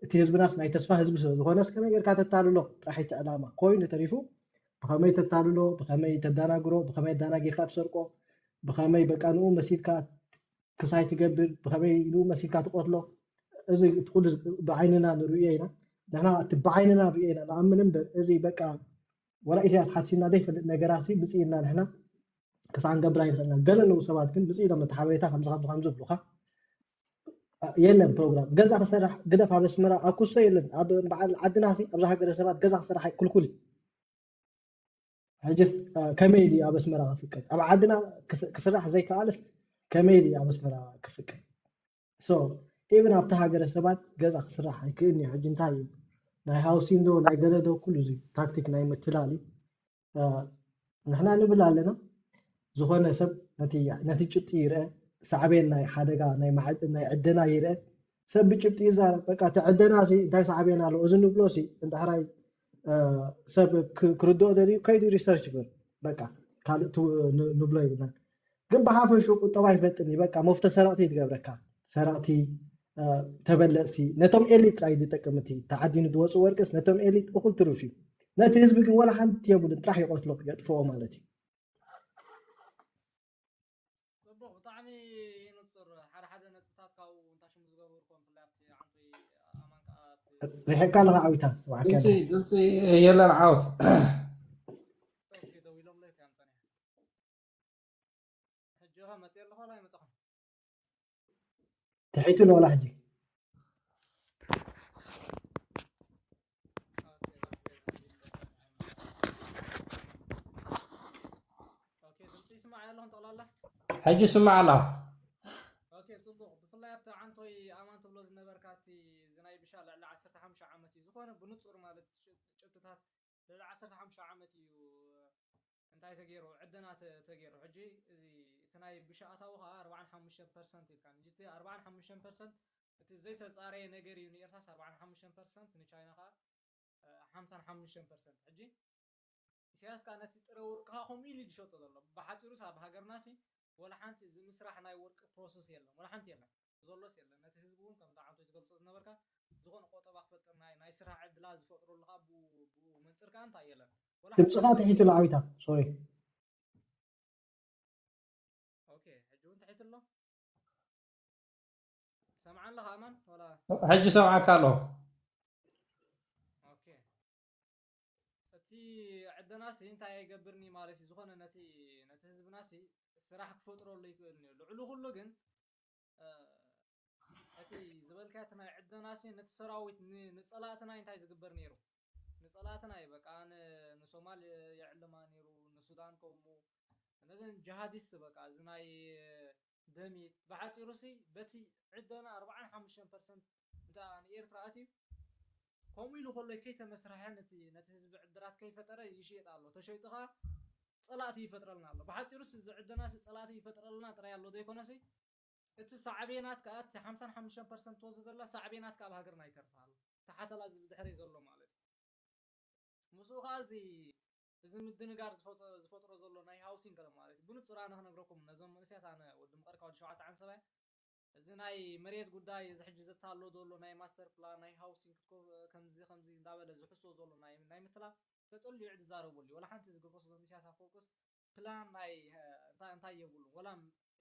እቲ ህዝብናስ ናይ ተስፋ ህዝቢ ስለ ዝኾነስ ከመይ ጌርካ ተታልሎ ጥራሕ እቲ ዕላማ ኮይኑ ተሪፉ ብኸመይ ተታልሎ ብኸመይ ተዳናግሮ ብኸመይ ኣዳናጊርካ ትሰርቆ ብኸመይ በቃ ንኡ መሲልካ ክሳይ ትገብር ብኸመይ ንኡ መሲልካ ትቆትሎ እዚ ኩሉ ብዓይንና ንርእዮ ኢና ንሕና እቲ ብዓይንና ንርእዮ ኢና ንኣምን እምበር እዚ በቃ ወላ ኢሳያስ ሓሲና ዘይፈልጥ ነገራት ምፅእና ንሕና ክሳዕ ንገብር ኣይንኽእልና ገለ ኣለዉ ሰባት ግን ብፅእ ኢሎም ነቲ ሓበሬታ ከምዚ ከምዚ ከምዚ ብሉካ የለን ፕሮግራም ገዛ ክሰራሕ ግደፍ ኣብ ኣስመራ ኣብ ኩስቶ የለን ኣብ በዓል ዓድና ሲ ኣብዛ ሃገረ ሰባት ገዛ ክሰራሕ ክልኩል እዩ ሕጅስ ከመይ ድዩ ኣብ ኣስመራ ክፍቀድ ኣብ ዓድና ክስራሕ ዘይከኣልስ ከመይ ድዩ ኣብ ኣስመራ ክፍቀድ so even ኣብቲ ሃገረ ሰባት ገዛ ክስራሕ ኣይክእልን እዩ ሕጂ እንታይ እዩ ናይ ሃውሲንግ ዶ ናይ ገለ ዶ ኩሉ እዚ ታክቲክ ናይ ምትላል እዩ ንሕና ንብል ኣለና ዝኾነ ሰብ ነቲ ጭብጢ ይርአ ሳዕቤን ናይ ሓደጋ ናይ ማዕድን ናይ ዕደና ይርአ ሰብ ብጭብጢ ይዛረብ በቃ እቲ ዕደና ሲ እንታይ ሳዕቤን ኣለዎ እዚ ንብሎ ሲ እንድሕራይ ሰብ ክርድኦ ደልዩ ከይዱ ሪሰርች ይብል በቃ ካልእ ንብሎ ይብልና ግን ብሓፈሹ ቁጠባ ይፈጥን እዩ በቃ መፍቶ ሰረቕቲ ትገብረካ ሰረቕቲ ተበለፅቲ ነቶም ኤሊት ጥራይ ዝጠቅም እቲ ተዓዲኑ ዝወፁ ወርቅስ ነቶም ኤሊት እኩል ትሩፍ እዩ ነቲ ህዝቢ ግን ወላ ሓንቲ የብሉን ጥራሕ ይቆትሎ የጥፍኦ ማለት እዩ ፅቡቅ ብጣዕሚ ንፁር ሓደ ሓደ ነጥብታት ካብኡ እንታይ ሽሙ ዝገበርኩም ብፍላይ ኣብቲ ዓንቶይ ኣማን ከዓ ሪሕካ ኣለካ ዓዊታ ስብሓካ ድምፂ ድምፂ የለን ዓወት ደው ኢሎም ለካ ምፀኒ ሕጂ ኸ መፅእ ኣለኹ ወላ ይመፅኹም ትሒቱ ለወላ ሕጂ ድምፂ ይስማዕ ኣለኹም ጠቕላላ ሕጂ ስማዕ ኣላ ኦኬ ፅቡቅ ብፍላይ ኣብቲ ዓንቶይ ኣማን ትብሎ ዝነበርካ እቲ እዚ ናይ ብሻ ልዕሊ ዓሰርተ ሓሙሽተ ዓመት እዩ ዝኾነ ብንፁር ማለት ጭብጥታት ልዕሊ ዓሰርተ ሓሙሽተ ዓመት እዩ እንታይ ተገይሩ ዕደና ተገይሩ ሕጂ እዚ እቲ ናይ ብሻ ኣታዊ ከዓ ኣርባዓን ሓሙሽተን ፐርሰንት ኢልካ እንጂ እቲ ኣርባዓን ሓሙሽተን ፐርሰንት እቲ ዘይተፃረየ ነገር እዩ ንኤርትራስ ኣርባዓን ሓሙሽተን ፐርሰንት ንቻይና ከዓ ሓምሳን ሓሙሽተን ፐርሰንት ሕጂ ኢሳያስ ከዓ ነቲ ጥረ ወርቅኻ ከምኡ ኢሉ ዝሸጦ ዘሎ ብሓፂሩስ ኣብ ሃገርናሲ ወላ ሓንቲ እዚ ምስራሕ ናይ ወርቂ ፕሮሰስ የለን ወላ ሓንቲ የለን ዘሎስ የለን ነቲ ህዝቢ እውን ከምቲ ዓንቶ ዝገልፆ ዝነበርካ ዝኾነ ቆጠባ ክፈጥር ናይ ናይ ስራሕ ዕድላ ዝፈጥረሉ ከዓ ብኡ መንፅር ከዓ እንታይ የለን ድምፅኻ ትሒቱ ለዓዊታ ሶሪ ኦኬ ሕጂ እውን ትሒት ኣሎ ሰምዓ ኣለኻ ኣማን ወላ ሕጂ ሰምዓካ ኣሎ ኦኬ እቲ ዕደናሲ እንታይ ኣይገብርኒ ማለት እዩ ዝኾነ ነቲ ነቲ ህዝብናሲ ስራሕ ክፈጥረሉ ይኽእል እዩ ልዕሉ ኩሉ ግን እቲ ዝበልካዮ እቲ ናይ ዕደናሲ ነቲ ሰራዊት ንፀላእትና እንታይ ዝግበር ነይሩ ንፀላእትና እዩ በቃ ንሶማል የዕልማ ነይሩ ንሱዳን ከምኡ እነዚን ጅሃዲስት በቃ እዚ ናይ ደሚት ብሓፂሩ ሲ በቲ ዕደና ኣርባዓን ሓሙሽተን ፐርሰንት እንተ ንኤርትራ ኣትዩ ከምኡ ኢሉ ከሎ ከይተመስረሐ ነቲ ነቲ ህዝቢ ዕድራት ከይፈጠረ ይሽየጥ ኣሎ ተሸይጡ ከዓ ፀላእቲ ይፈጥረልና ኣሎ ብሓፂሩ ሲ እዚ ዕደና ሲ ፀላእቲ ይፈጥረልና ጥራይ ኣሎ ዘይኮነሲ እቲ ሳዕቤናት ከዓ እቲ ሓምሳን ሓሙሽተን ፐርሰንት ትወስድ ዘላ ሳዕቤናት ከዓ ኣብ ሃገርና ይተርፍ ኣሎ ተሓተላ እዚ ብድሕረይ ዘሎ ማለት እዩ ምስኡ ከዓ እዚ እዚ ምድንጋር ዝፈጥሮ ዘሎ ናይ ሃውሲንግ ገለ ማለት እዩ ብንፁር ኣነ ክነግረኩም ነዞም መንእሰያት ኣነ ወዲ ምቐር ካብ ሸውዓተ ዓንሰባይ እዚ ናይ መሬት ጉዳይ እዚ ሕጂ ዘታሎ ዘሎ ናይ ማስተር ፕላን ናይ ሃውሲንግ ከምዚ ከምዚ እንዳበለ ዝሕሶ ዘሎ ናይ ናይ ምትላል ተጠልዩ ዝዛረበሉ እዩ ወላ ሓንቲ ዝገብሮ ዘሎ ኢሳያስ ኣፈወርቅስ ፕላን ናይ እንታይ የብሉን ወላ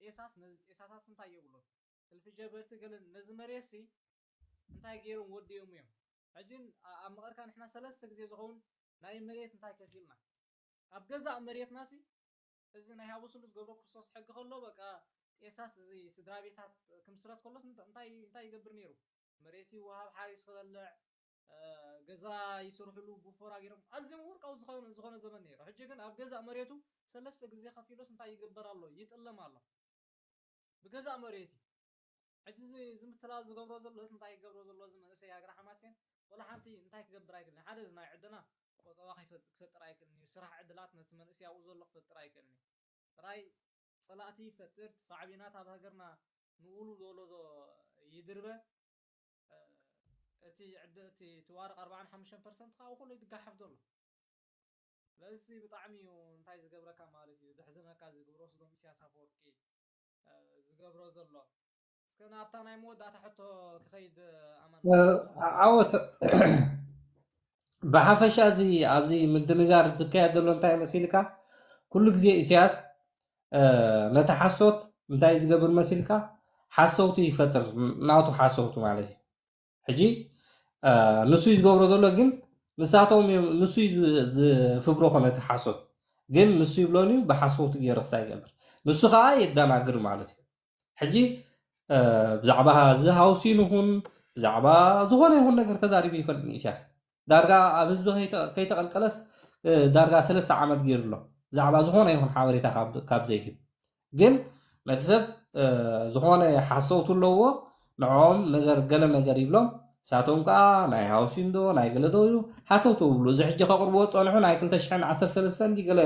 ጤሳስ ነዚ ጤሳታስ እንታይ የብሉን እልፊ ጀበርቲ ገለ ነዚ መሬት ሲ እንታይ ገይሮም ወዲኦም እዮም ሕጂ ኣብ መቐርካ ንሕና ሰለስተ ግዜ ዝኸውን ናይ መሬት እንታይ ከፊልና ኣብ ገዛእ መሬትና ሲ እዚ ናይ ሃቡ ስሉስ ገብረ ክርስቶስ ሕጊ ከሎ በቃ ጤሳስ እዚ ስድራ ቤታት ክምስረት ከሎስ እንታይ እንታይ ይገብር ነይሩ መሬት ይወሃብ ሓሪስ ክበልዕ ገዛ ይስርሕሉ ብፎራ ገይሮም ኣዝዮም ወርቃዊ ዝኾነ ዝኾነ ዘመን ነይሩ ሕጂ ግን ኣብ ገዛእ መሬቱ ሰለስተ ግዜ ከፊሎስ እንታይ ይግበር ኣሎ ይጥለም ኣሎ ብገዛእ መሬት እዩ። ሕጂ እዚ እዚ ምትላል ዝገብሮ ዘሎ እዚ እንታይ ይገብሮ ዘሎ እዚ መንእሰይ ሃገረ ሓማሴን ወላ ሓንቲ እንታይ ክገብር ኣይክእልን። ሓደ እዚ ናይ ዕድና ቁጠባ ከይፈጥ- ክፈጥር ኣይክእልን እዩ። ስራሕ ዕድላት ነቲ መንእሰይ ኣብኡ ዘሎ ክፈጥር ኣይክእልን እዩ። ጥራይ ጸላእቲ ይፈጥር፣ ሳዕቤናት ኣብ ሃገርና ንኡሉ ዝወለዶ ይድርበ። እቲ ዕድ እቲ እቲ ዋርቕ ኣርባዓን ሓሙሽተን ፐርሰንት ካብኡ ኩሉ ይትጋሓፍ ዘሎ። ስለዚ ብጣዕሚ እዩ እንታይ ዝገብረካ ማለት እዩ፣ ዘሕዝነካ እዚ ግብረ ሰዶም ኢሳያስ ኣፈወርቂ ዝገብሮ ዘሎ። እስከ ናብታ ናይ መወዳእታ ሕቶ ክኸይድ ኣማን። ዓወት ብሓፈሻ እዚ ኣብዚ ምድንጋር ዝካየድ ዘሎ እንታይ መሲልካ? ኩሉ ግዜ ኢሳያስ ነቲ ሓሶት እንታይ ዝገብር መሲልካ? ሓሰውቲ ይፈጥር፣ ናቱ ሓሰውቲ ማለት እዩ። ሕጂ ንሱ እዩ ዝገብሮ ዘሎ፣ ግን ንሳቶም እዮም፣ ንሱ እዩ ዝፍብረኾ ነቲ ሓሶት፣ ግን ንሱ ይብሎን እዩ ብሓሰውቲ ገይሩ ክስታይ ይገብር፣ ንሱ ከዓ የደናግር ማለት እዩ። ሕጂ ብዛዕባ እዚ ሃውሲን ይኹን ብዛዕባ ዝኾነ ይኹን ነገር ተዛሪቡ ይፈልጥ ኢሳያስ። ዳርጋ ኣብ ህዝቢ ከይተቐልቀለስ ዳርጋ ሰለስተ ዓመት ገይሩ ኣሎ፣ ብዛዕባ ዝኾነ ይኹን ሓበሬታ ካብ ዘይህብ። ግን ነቲ ሰብ ዝኾነ ሓሰውቲ ኣለዎ፣ ንዕኦም ነገር ገለ ነገር ይብሎም፣ ንሳቶም ከዓ ናይ ሃውሲን ዶ ናይ ገለ ዶ ኢሉ ሃተውተው ይብሉ። እዚ ሕጂ ከቕርብዎ ዝፀንሑ ናይ ክልተ ሽሕን ዓሰርተ ሰለስተን እንዲ ገለ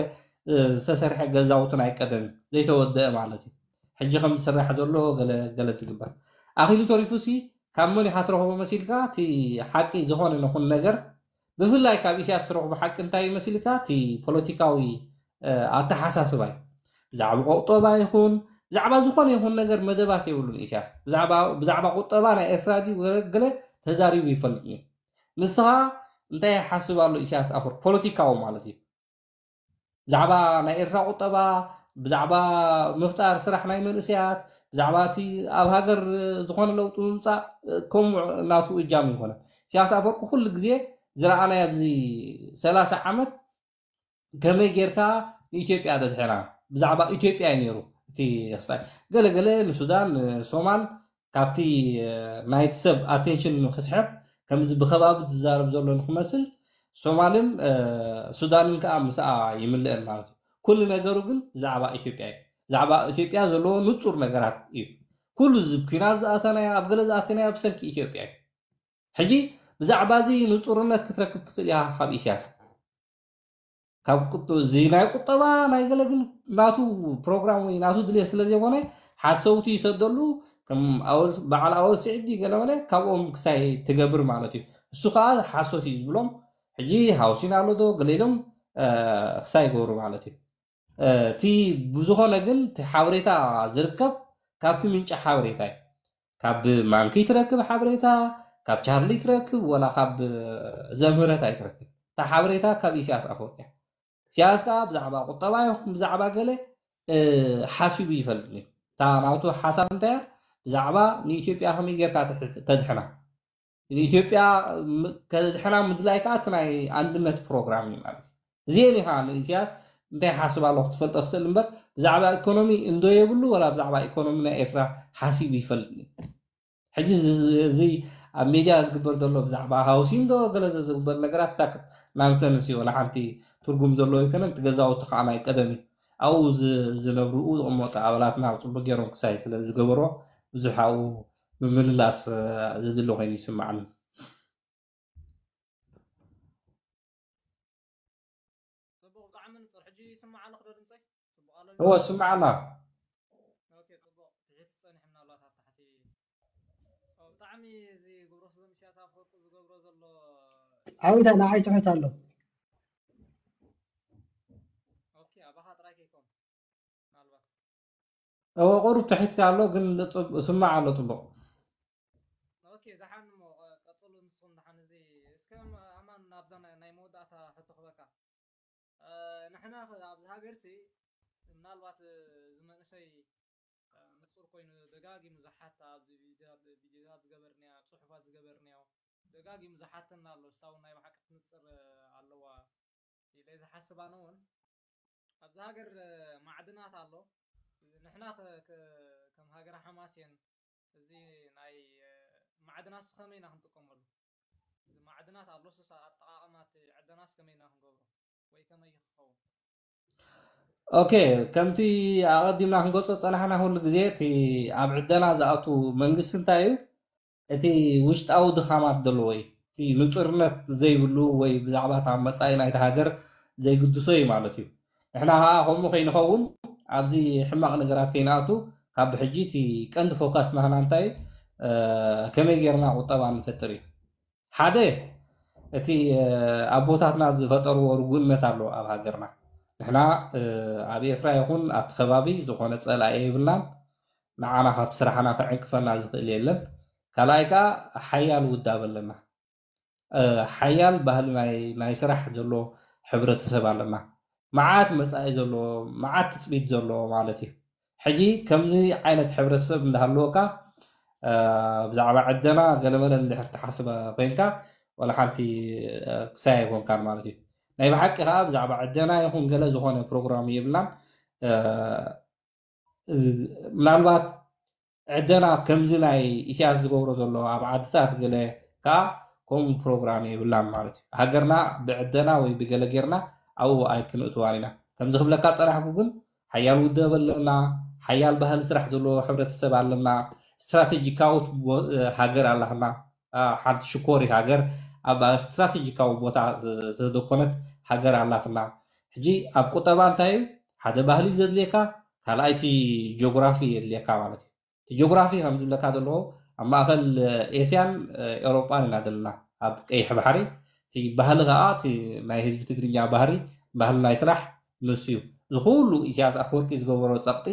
ዝተሰርሐ ገዛውቲ ናይ ቀደም ዘይተወደአ ማለት እዩ። ሕጂ ከም ዝስራሕ ዘሎ ገለ ገለ ዝግበር ኣኺሉ ተሪፉሲ ካብ መን ኢኻ ትረኽቦ መሲልካ? እቲ ሓቂ ዝኾነ ነኹን ነገር ብፍላይ ካብ ኢሳያስ ትረኽቦ ሓቂ እንታይ እዩ መሲልካ? እቲ ፖለቲካዊ ኣተሓሳስባ እዩ። ብዛዕባ ቁጠባ ይኹን ብዛዕባ ዝኾነ ይኹን ነገር መደባት የብሉን ኢሳያስ። ብዛዕባ ቁጠባ ናይ ኤርትራ ድዩ ገለ ተዛሪቡ ይፈልጥ እዩ። ንስኻ እንታይ ይሓስብ ኣሎ ኢሳያስ ኣፈወርቂ ፖለቲካዊ ማለት እዩ። ብዛዕባ ናይ ኤርትራ ቁጠባ፣ ብዛዕባ ምፍጣር ስራሕ ናይ መንእሰያት፣ ብዛዕባ እቲ ኣብ ሃገር ዝኾነ ለውጢ ምምፃእ ከምኡ ናቱ እጃም ይኮነ። ኢሳያስ ኣፈወርቂ ኩሉ ግዜ ዝረኣናዮ ኣብዚ ሰላሳ ዓመት ከመይ ጌርካ ንኢትዮጵያ ተድሕና ብዛዕባ ኢትዮጵያ እዩ ነይሩ እቲ ክስታይ። ገለገለ ንሱዳን ንሶማል ካብቲ ናይቲ ሰብ ኣቴንሽን ንክስሕብ ከምዚ ብከባቢ ዝዛረብ ዘሎ ንክመስል ሶማልን ሱዳንን ከዓ ምስኣ ይምልአን ማለት እዩ። ኩሉ ነገሩ ግን ብዛዕባ ኢትዮጵያ እዩ። ብዛዕባ ኢትዮጵያ ዘለዎ ንፁር ነገራት እዩ። ኩሉ እዚ ኩናት ዝኣተናዮ ኣብ ገለ ዝኣተናዮ ብሰንኪ ኢትዮጵያ እዩ። ሕጂ ብዛዕባ እዚ ንፁርነት ክትረክብ ትኽእል ኢኻ ካብ ኢሳያስ። ካብ ቁጡ እዚ ናይ ቁጠባ ናይ ገለ ግን ናቱ ፕሮግራም ወይ ናቱ ድልየት ስለ ዘይኮነ ሓሰውቲ ይሰደሉ ከም ኣወል በዓል ኣወል ስዒድ እዩ ገለ መለ ካብኦም ክሳይ ትገብር ማለት እዩ። እሱ ከዓ ሓሶት እዩ ዝብሎም። ሕጂ ሃውሲን ኣሎ ዶ ገለ ኢሎም ክሳይ ይገብሩ ማለት እዩ። እቲ ብዝኾነ ግን እቲ ሓበሬታ ዝርከብ ካብቲ ምንጪ ሓበሬታ እዩ። ካብ ማንኪ ትረክብ ሓበሬታ፣ ካብ ቻርሊ ትረክብ ወላ ካብ ዘምህረት ኣይትረክብ። እታ ሓበሬታ ካብ ኢሳያስ ኣፈወርቂ እያ። ኢሳያስ ከዓ ብዛዕባ ቁጠባ ይኹን ብዛዕባ ገለ ሓሲቡ ይፈልጥ እዩ። እታ ናቱ ሓሳብ እንታይ እያ? ብዛዕባ ንኢትዮጵያ ከመይ ጌርካ ተድሕና ንኢትዮጵያ ከድሕና ምድላይ ከዓ እቲ ናይ ኣንድነት ፕሮግራም እዩ ማለት እዩ። እዚአን ኢኻ ንኢሳያስ እንታይ ሓስብ ኣለኹ ትፈልጦ ትኽእል እምበር ብዛዕባ ኢኮኖሚ እንዶ የብሉ ወላ ብዛዕባ ኢኮኖሚ ናይ ኤርትራ ሓሲቡ ይፈልጥ እዩ። ሕጂ እዚ ኣብ ሚድያ ዝግበር ዘሎ ብዛዕባ ሃውሲን ዶ ገለ ዝግበር ነገራት ሳክት ናንሰንስ እዩ። ወላ ሓንቲ ትርጉም ዘለዎ ኣይኮነን። እቲ ገዛውቲ ከዓ ናይ ቀደም እዩ። ኣብኡ ዝነብሩ ዝቕመጡ ኣባላትና ኣብ ፅቡቅ ገይሮም ክሳይ ስለ ዝገበርዎ ብዙሕ ኣብኡ ምምልላስ ዘድሊ ኮይኑ ይስማዓኒ። ጽቡቕ ብጣዕሚ ንጹር። ሕጂ ይስማዕ ኣለኹ ዶ ድምጸይ? ጽቡቕ ኣሎ ድምጸይ? እወ ስማዕ ኣላ። ኦኬ ጽቡቕ። ትሕት ጸኒሑ ምናልባት ኣብ ታሕቲ። ኦ፣ ብጣዕሚ እዚ ግብረ ሰዶም ኢሳያስ ኣፈወርቂ ዝገብሮ ዘሎ ዓዊታ ንዓይ ትሑት ኣሎ። ኦኬ ኣባኻ ጥራይ ከይኮን ምናልባት። እወ ቁሩብ ትሕት ኣሎ ግን ስማዕ ኣሎ ጽቡቕ። ኦኬ ደሓን እሞ ቀጽሉ ንስኹም ደሓን። እዚ እስከ ኣማን ናብዛ ናይ መወዳእታ ሕቶ ክበካ። ንሕና ኣብዚ ሃገርሲ ምናልባት እዚ መንእሰይ ንጹር ኮይኑ ደጋጊሙ ዝሓታ ኣብዚ ቪድዮታት ዝገበርናዮ ጽሑፋት ዝገበርናዮ ደጋጊሙ ዝሓተና ኣሎ። እሳ እውን ናይ ብሓቂ ትንጽር ኣለዋ ኢለ ዝሓስብ ኣነ እውን ኣብዚ ሃገር ማዕድናት ኣሎ። ንሕና ከም ሃገረ ሓማሴን እዚ ናይ ማዕድናት ከመይ ኢና ክንጥቀመሉ? እዚ ማዕድናት ኣሎ ስሳ ኣጠቃቀማ እቲ ዕደናስ ከመይ ኢና ክንገብሮ ወይ ከመይ ክኸውን? ኦኬ፣ ከምቲ ኣቐዲምና ክንገልጾ ዝጸናሕና፣ ኩሉ ግዜ እቲ ኣብ ዕደና ዝኣቱ መንግስቲ እንታይ እዩ? እቲ ውሽጣዊ ድኻማት ዘለዎ እዩ። እቲ ንጹርነት ዘይብሉ ወይ ብዛዕባ እታ መጻኢ ናይታ ሃገር ዘይግድሶ እዩ ማለት እዩ። ንሕና ኸኣ ከምኡ ከይንኸውን፣ ኣብዚ ሕማቕ ነገራት ከይንኣቱ፣ ካብ ብሕጂ እቲ ቀንዲ ፎካስ ናህና እንታይ እዩ? እ፣ ከመይ ጌርና ቁጠባ ንፈጥር እዩ። ሓደ፣ እቲ፣ እ፣ ኣቦታትና ዝፈጠርዎ ርጉእነት ኣሎ ኣብ ሃገርና። ንሕና፣ እ፣ ኣብ ኤርትራ ይኹን ኣብቲ ከባቢ ዝኾነ ጸላኢ የብልናን። ንዓና ካብቲ ስራሕና ከዕንቅፈና ዝኽእል የለን። ካልኣይ ከኣ ሓያል ውዳበ ኣለና። እ፣ ሓያል ባህሊ ናይ፣ ናይ ስራሕ ዘሎ ሕብረተሰብ ኣለና። መዓት መጻኢ ዘለዎ፣ መዓት ትጽቢት ዘለዎ ማለት እዩ። ሕጂ ከምዚ ዓይነት ሕብረተሰብ እንዳሃለወካ፣ እ፣ ብዛዕባ ዕደና ገለመለ እንድሕር ትሓስበ ኮይንካ፣ ዋላ ሓንቲ፣ እ፣ ክሳይ ኣይኮንካን ማለት እዩ። ናይ ብሓቂ ከኣ ብዛዕባ ዕደና ይኹን ገለ ዝኾነ ፕሮግራም የብልናን። እ፣ ምናልባት ዕደና ከምዚ ናይ ኢሳያስ ዝገብሮ ዘሎ ኣብ ዓድታት ገለ ከኣ ከምኡ ፕሮግራም የብላን ማለት እዩ። ሃገርና ብዕደና ወይ ብገለ ጌርና ኣብኡ ኣይክንእትዋን ኢና። ከምዚ ክብለካ ጸናሕኩ ግን ሓያል ውደብ ኣለና፣ ሓያል ባህሊ ስራሕ ዘለዎ ሕብረተሰብ ኣለና፣ ስትራቴጂካዊት ቦ-፣ ሃገር ኣላትና። አ፣ ሓንቲ ሽኮሪት ሃገር ኣብ ስትራቴጂካዊ ቦታ ዝ-፣ ዝተደኮነት ሃገር ኣላትና። ሕጂ ኣብ ቁጠባ እንታይ እዩ? ሓደ ባህሊ ዘድልየካ፣ ካልኣይ እቲ ጂኦግራፊ የድልየካ ማለት እዩ። እቲ ጂኦግራፊ ከም ዝብለካ ዘለኹ ኣብ ማእከል ኤስያን ኤውሮጳን ኢና ዘለና። ኣብ ቀይሕ ባሕሪ እቲ ባህሊ ከኣ እቲ ናይ ህዝቢ ትግርኛ ባህሪ፣ ባህሊ ናይ ስራሕ ንሱ እዩ። እዚ ኩሉ ኢሳያስ ኣፈወርቂ ዝገበሮ ጸቕጢ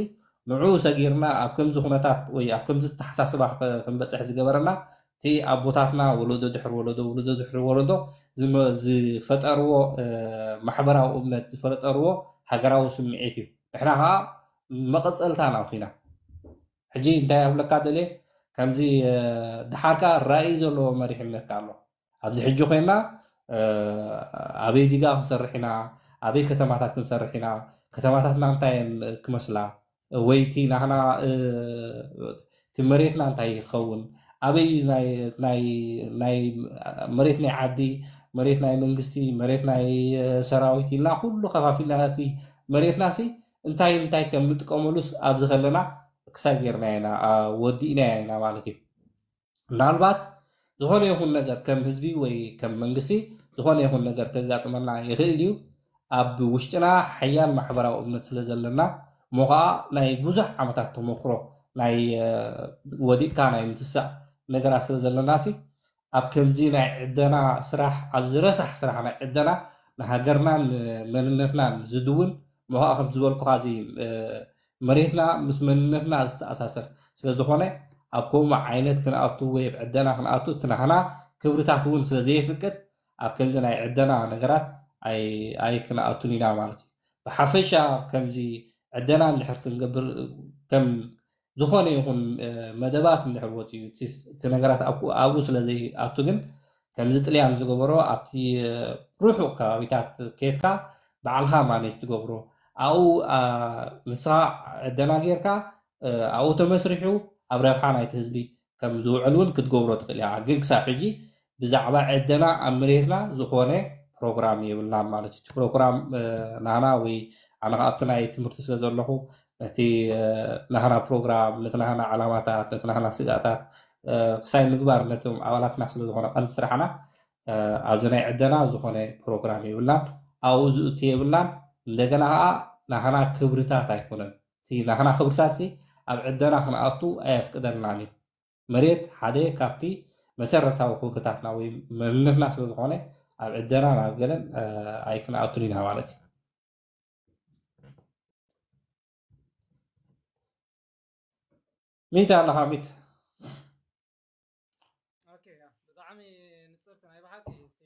ንዕኡ ሰጊርና ኣብ ከምዚ ኩነታት ወይ ኣብ ከምዚ ኣተሓሳስባ ኸ-፣ ክንበጽሕ ዝገበረና እቲ ኣቦታትና ወለዶ ድሕሪ ወለዶ፣ ወለዶ ድሕሪ ወለዶ ዝመ-፣ ዝፈጠርዎ፣ እ፣ ማሕበራዊ እምነት፣ ዝፈጠርዎ ሃገራዊ ስምዒት እዩ። ንሕና ኸኣ መቐጸልታ ናቱ ኢና። ሕጂ እንታይ ኣብለካ ደልየ፣ ከምዚ፣ እ፣ ደሓር ከኣ ራእይ ዘለዎ መሪሕነት ከኣ ኣሎ። ኣብዚ ሕጂ ኮይንና፣ እ፣ ኣበይ ዲጋ ክንሰርሕ ኢና፣ ኣበይ ከተማታት ክንሰርሕ ኢና፣ ከተማታትና እንታይ እየን ክመስላ፣ ወይ እቲ ናህና፣ እ፣ እቲ መሬትና እንታይ ይኸውን፣ ኣበይ ናይ፣ ናይ፣ ናይ መሬት ናይ ዓዲ፣ መሬት ናይ መንግስቲ፣ መሬት ናይ፣ እ፣ ሰራዊት ኢልና ኩሉ ከፋፊልና እቲ መሬትናሲ እንታይ እንታይ ከም ንጥቀመሉስ ኣብዚ ከለና ክሳብ ጌርና ኢና፣ አ፣ ወዲእና ኢና ማለት እዩ። ምናልባት ዝኾነ ይኹን ነገር ከም ህዝቢ ወይ ከም መንግስቲ ዝኾነ ይኹን ነገር ከጋጥመና ይኽእል እዩ። ኣብ ውሽጥና ሓያል ማሕበራዊ እምነት ስለ ዘለና፣ እሞ ኸዓ ናይ ብዙሕ ዓመታት ተመክሮ ናይ፣ እ፣ ወዲቕካ ናይ ምትሳእ ነገራት ስለ ዘለናሲ፣ ኣብ ከምዚ ናይ ዕደና ስራሕ፣ ኣብዚ ረሳሕ ስራሕ ናይ ዕደና ንሃገርናን መንነትናን ዝድውን፣ እሞ ኸዓ ከም ዝበልኩኻ እዚ፣ እ፣ መሬትና ምስ መንነትና ዝተኣሳሰር ስለ ዝኾነ፣ ኣብ ከምኡ ዓይነት ክንኣቱ ወይ ኣብ ዕደና ክንኣቱ እቲ ናህና ክብርታት እውን ስለ ዘየፍቅድ፣ ኣብ ከምዚ ናይ ዕደና ነገራት ኣይ-፣ ኣይክንኣቱን ኢና ማለት እዩ። ብሓፈሻ ከምዚ ዕደና እንድሕር ክንገብር፣ ከም ዝኾነ ይኹን፣ እ፣ መደባት እንድሕር ወፂኡ፣ እቲ ስ-፣ እቲ ነገራት ኣብኩ-፣ ኣብኡ ስለ ዘይኣቱ ግን፣ ከምዚ ጥልያን ዝገበሮ ኣብቲ፣ እ፣ ርሑቕ ከባቢታት ኬድካ ባዕልኻ ማኔጅ ትገብሮ። ኣብኡ፣ አ፣ ንስኻ ዕደና ጌርካ፣ እ፣ ኣብኡ ተመስሪሑ ኣብ ረብሓ ናይቲ ህዝቢ ከም ዝውዕል እውን ክትገብሮ ትኽእል ኢኻ። ግን ክሳብ ሕጂ ብዛዕባ ዕደና ኣብ መሬትና ዝኾነ ፕሮግራም የብልናን ማለት እዩ። እቲ ፕሮግራም፣ እ፣ ናህና ወይ ኣነ ከኣ ኣብቲ ናይ ትምህርቲ ስለ ዘለኹ ነቲ፣ እ፣ ናህና ፕሮግራም፣ ነቲ ናህና ዓላማታት፣ ነቲ ናህና ስጋኣታት፣ እ፣ ክሳይ ምግባር ነቶም ኣባላትና ስለ ዝኾነ ቀንዲ ስራሕና፣ እ፣ ኣብዚ ናይ ዕደና ዝኾነ ፕሮግራም የብልናን። ኣብኡ ዝእቱ የብልናን። እንደገና ከኣ ናህና ክብርታት ኣይኮነን። እቲ ናህና ክብርታትሲ ኣብ ዕደና ክንኣቱ ኣየፍቅደልናን እዩ። መሬት ሓደ ካብቲ መሰረታዊ ክብርታትና ወይ መንነትና ስለ ዝኾነ ኣብ ዕደና ናብ ገለን፣ እ፣ ኣይክንኣቱን ኢና ማለት እዩ። ሚት ኣለኻ ሚት። ኦኬ፣ ያ፣ ብጣዕሚ ንጽርቲ ናይ ብሓቂ። እቲ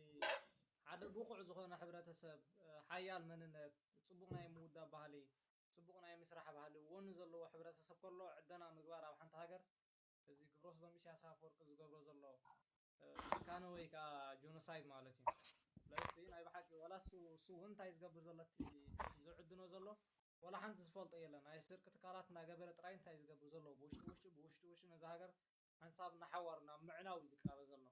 ሓደ ብቑዕ ዝኾነ ሕብረተሰብ፣ እ፣ ሓያል መንነት፣ ጽቡቕ ናይ ምውዳብ ባህሊ፣ ጽቡቕ ናይ ምስራሕ ባህሊ፣ ወኒ ዘለዎ ሕብረተሰብ ከሎ ዕደና ምግባር ኣብ ሓንቲ ሃገር፣ እዚ ግብረ ሰዶም ኢሳያስ ኣፈወርቂ ዝገብሮ ዘሎ፣ እ፣ ጭካነ ወይ ከዓ ጆኖሳይድ ማለት እዩ። ስለዚ ናይ ብሓቂ ዋላ እሱ፣ እሱ እውን እንታይ ዝገብር ዘሎ፣ እቲ ዝዕድኖ ዘሎ፣ ዋላ ሓንቲ ዝፈልጦ የለን። ናይ ስርቂ ትካላት እናገበረ ጥራይ እንታይ ዝገብር ዘሎ፣ ብውሽጢ ውሽጢ፣ ብውሽጢ ውሽጢ ነዛ ሃገር ሓንሳብ እናሓዋሩ ናብ ምዕናው እዩ ዝቃረብ ዘሎ።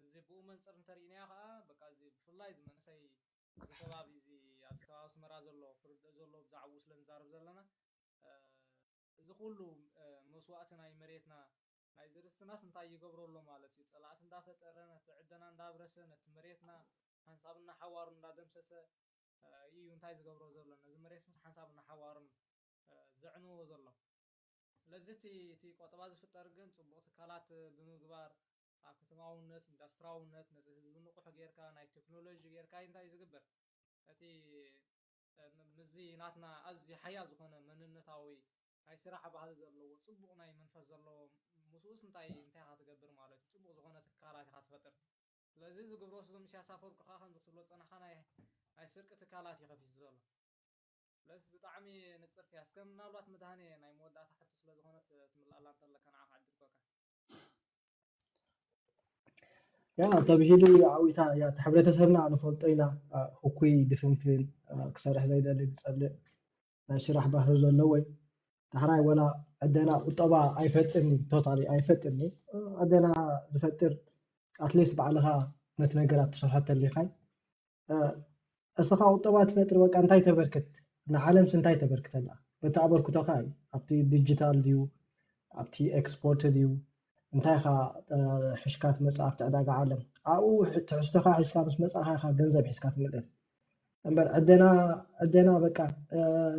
እዚ ብኡ መንፅር እንተሪእናዮ ከዓ፣ በቃ፣ እዚ ብፍላይ እዚ መንእሰይ እዚ ከባቢ እዚ ኣብዚ ከባቢ ኣስመራ ዘሎ ክርድኦ ዘሎ ብዛዕባኡ ስለ ንዛረብ ዘለና እዚ ኩሉ መስዋእቲ ናይ መሬትና ናይ ዝርስትናስ እንታይ ይገብሮ ኣሎ ማለት እዩ። ፀላእቲ እንዳፈጠረ ነቲ ዕደና እንዳብረሰ ነቲ መሬትና ሓንሳብ እናሓዋሩ እንዳደምሰሰ እዩ እንታይ ዝገብሮ ዘሎ ነዚ መሬትስ ሓንሳብ እናሓዋሩን ዘዕንዎ ዘሎ። ስለዚ እቲ ቆጠባ ዝፍጠር ግን ፅቡቕ ትካላት ብምግባር ኣብ ከተማውነት ኢንዳስትራውነት ነዚ ህዝቢ ንቑሕ ጌርካ ናይ ቴክኖሎጂ ጌርካ እንታይ እዩ ዝግበር እቲ ምዚ ናትና ኣዝዩ ሓያል ዝኾነ መንነታዊ ናይ ስራሕ ባህሊ ዘለዎ ፅቡቕ ናይ መንፈስ ዘለዎ ምስኡስ እንታይ እንታይ ኢኻ ትገብር ማለት እዩ ፅቡቕ ዝኾነ ትካላት ኢኻ ትፈጥር ስለዚ ዝግብሮ ስዞም ኢሳያስ ኣፈወርቂ ከዓ ከምዚ ክትብሎ ዝፀናሕካ ናይ ናይ ስርቂ ትካላት እዩ ከፊቱ ዘሎ ስለዚ ብጣዕሚ ንፅርቲ እያ እስከ ምናልባት መድሃኔ ናይ መወዳእታ ሕቶ ስለ ዝኾነት ትምልኣላ እንተለካ ንዓኻ ዕድል ኮካ ያ ተብሂሊ ዓዊታ ያ እቲ ሕብረተሰብና ንፈልጦ ኢና ህኩይ ድፍንፍን ክሰርሕ ዘይደሊ ዝፀልእ ናይ ስራሕ ባህሪ ዘለዎ ዳሕራይ ወላ ዕደና ቁጠባ ኣይፈጥርኒ ቶታሊ ኣይፈጥርኒ ዕደና ዝፈጥር ኣትሊስት ባዕልኻ ነቲ ነገራት ትሰርሖ ተሊኻይ እስኻ ቁጠባ ትፈጥር በቃ እንታይ ተበርክት ንዓለምስ እንታይ ተበርክተላ በቲ ኣበርክቶኻ እዩ ኣብቲ ዲጂታል ድዩ ኣብቲ ኤክስፖርት ድዩ እንታይ ኢኻ ሕሽካ ትመፅእ ኣብቲ ዕዳጋ ዓለም ኣብኡ ትሕዝቶኻ ሒዝካ ምስ መፃእኻ ኢኻ ገንዘብ ሒዝካ ትምለስ እምበር ዕደና ዕደና በቃ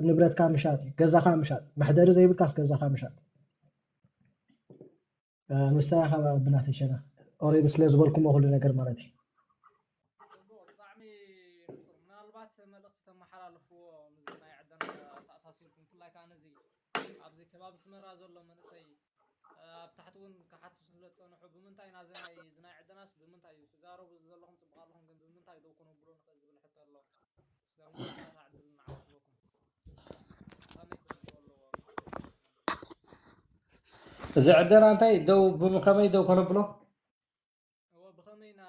ንብረትካ ምሻጥ እዩ ገዛኻ ምሻጥ መሕደሪ ዘይብልካስ ገዛኻ ምሻጥ ንሳ ኢኻ ብናተይ ሸነኽ ኦሬዲ ስለ ዝበልኩሞ ኩሉ ነገር ማለት እዩ ጽቡቕ ብጣዕሚ ንጹር ምናልባት መልእኽቲ ተመሓላልፍዎ ምስዚ ናይ ዕደና ተኣሳሲርኩም ብፍላይ ከዓ ነዚ ኣብዚ ከባቢ ኣስመራ ዘሎ መንእሰይ ኣብ ታሕቲ እውን ክሓቱ ስለ ዝጸንሑ ብምንታይ ናዚ ናይ እዚ ናይ ዕደናስ ብምንታይ ትዛረቡ ዘለኹም ጽቡቕ ኣለኹም ግን ብምንታይ ደው ክነብሎ ንኽእል ዝብል ሕቶ ኣሎ ስለምንታይ ዕድል ንዓኹም ኣለኩም እዚ ዕደና እንታይ ደው ብከመይ ደው ከነብሎ እወ ብኸመይ ኢና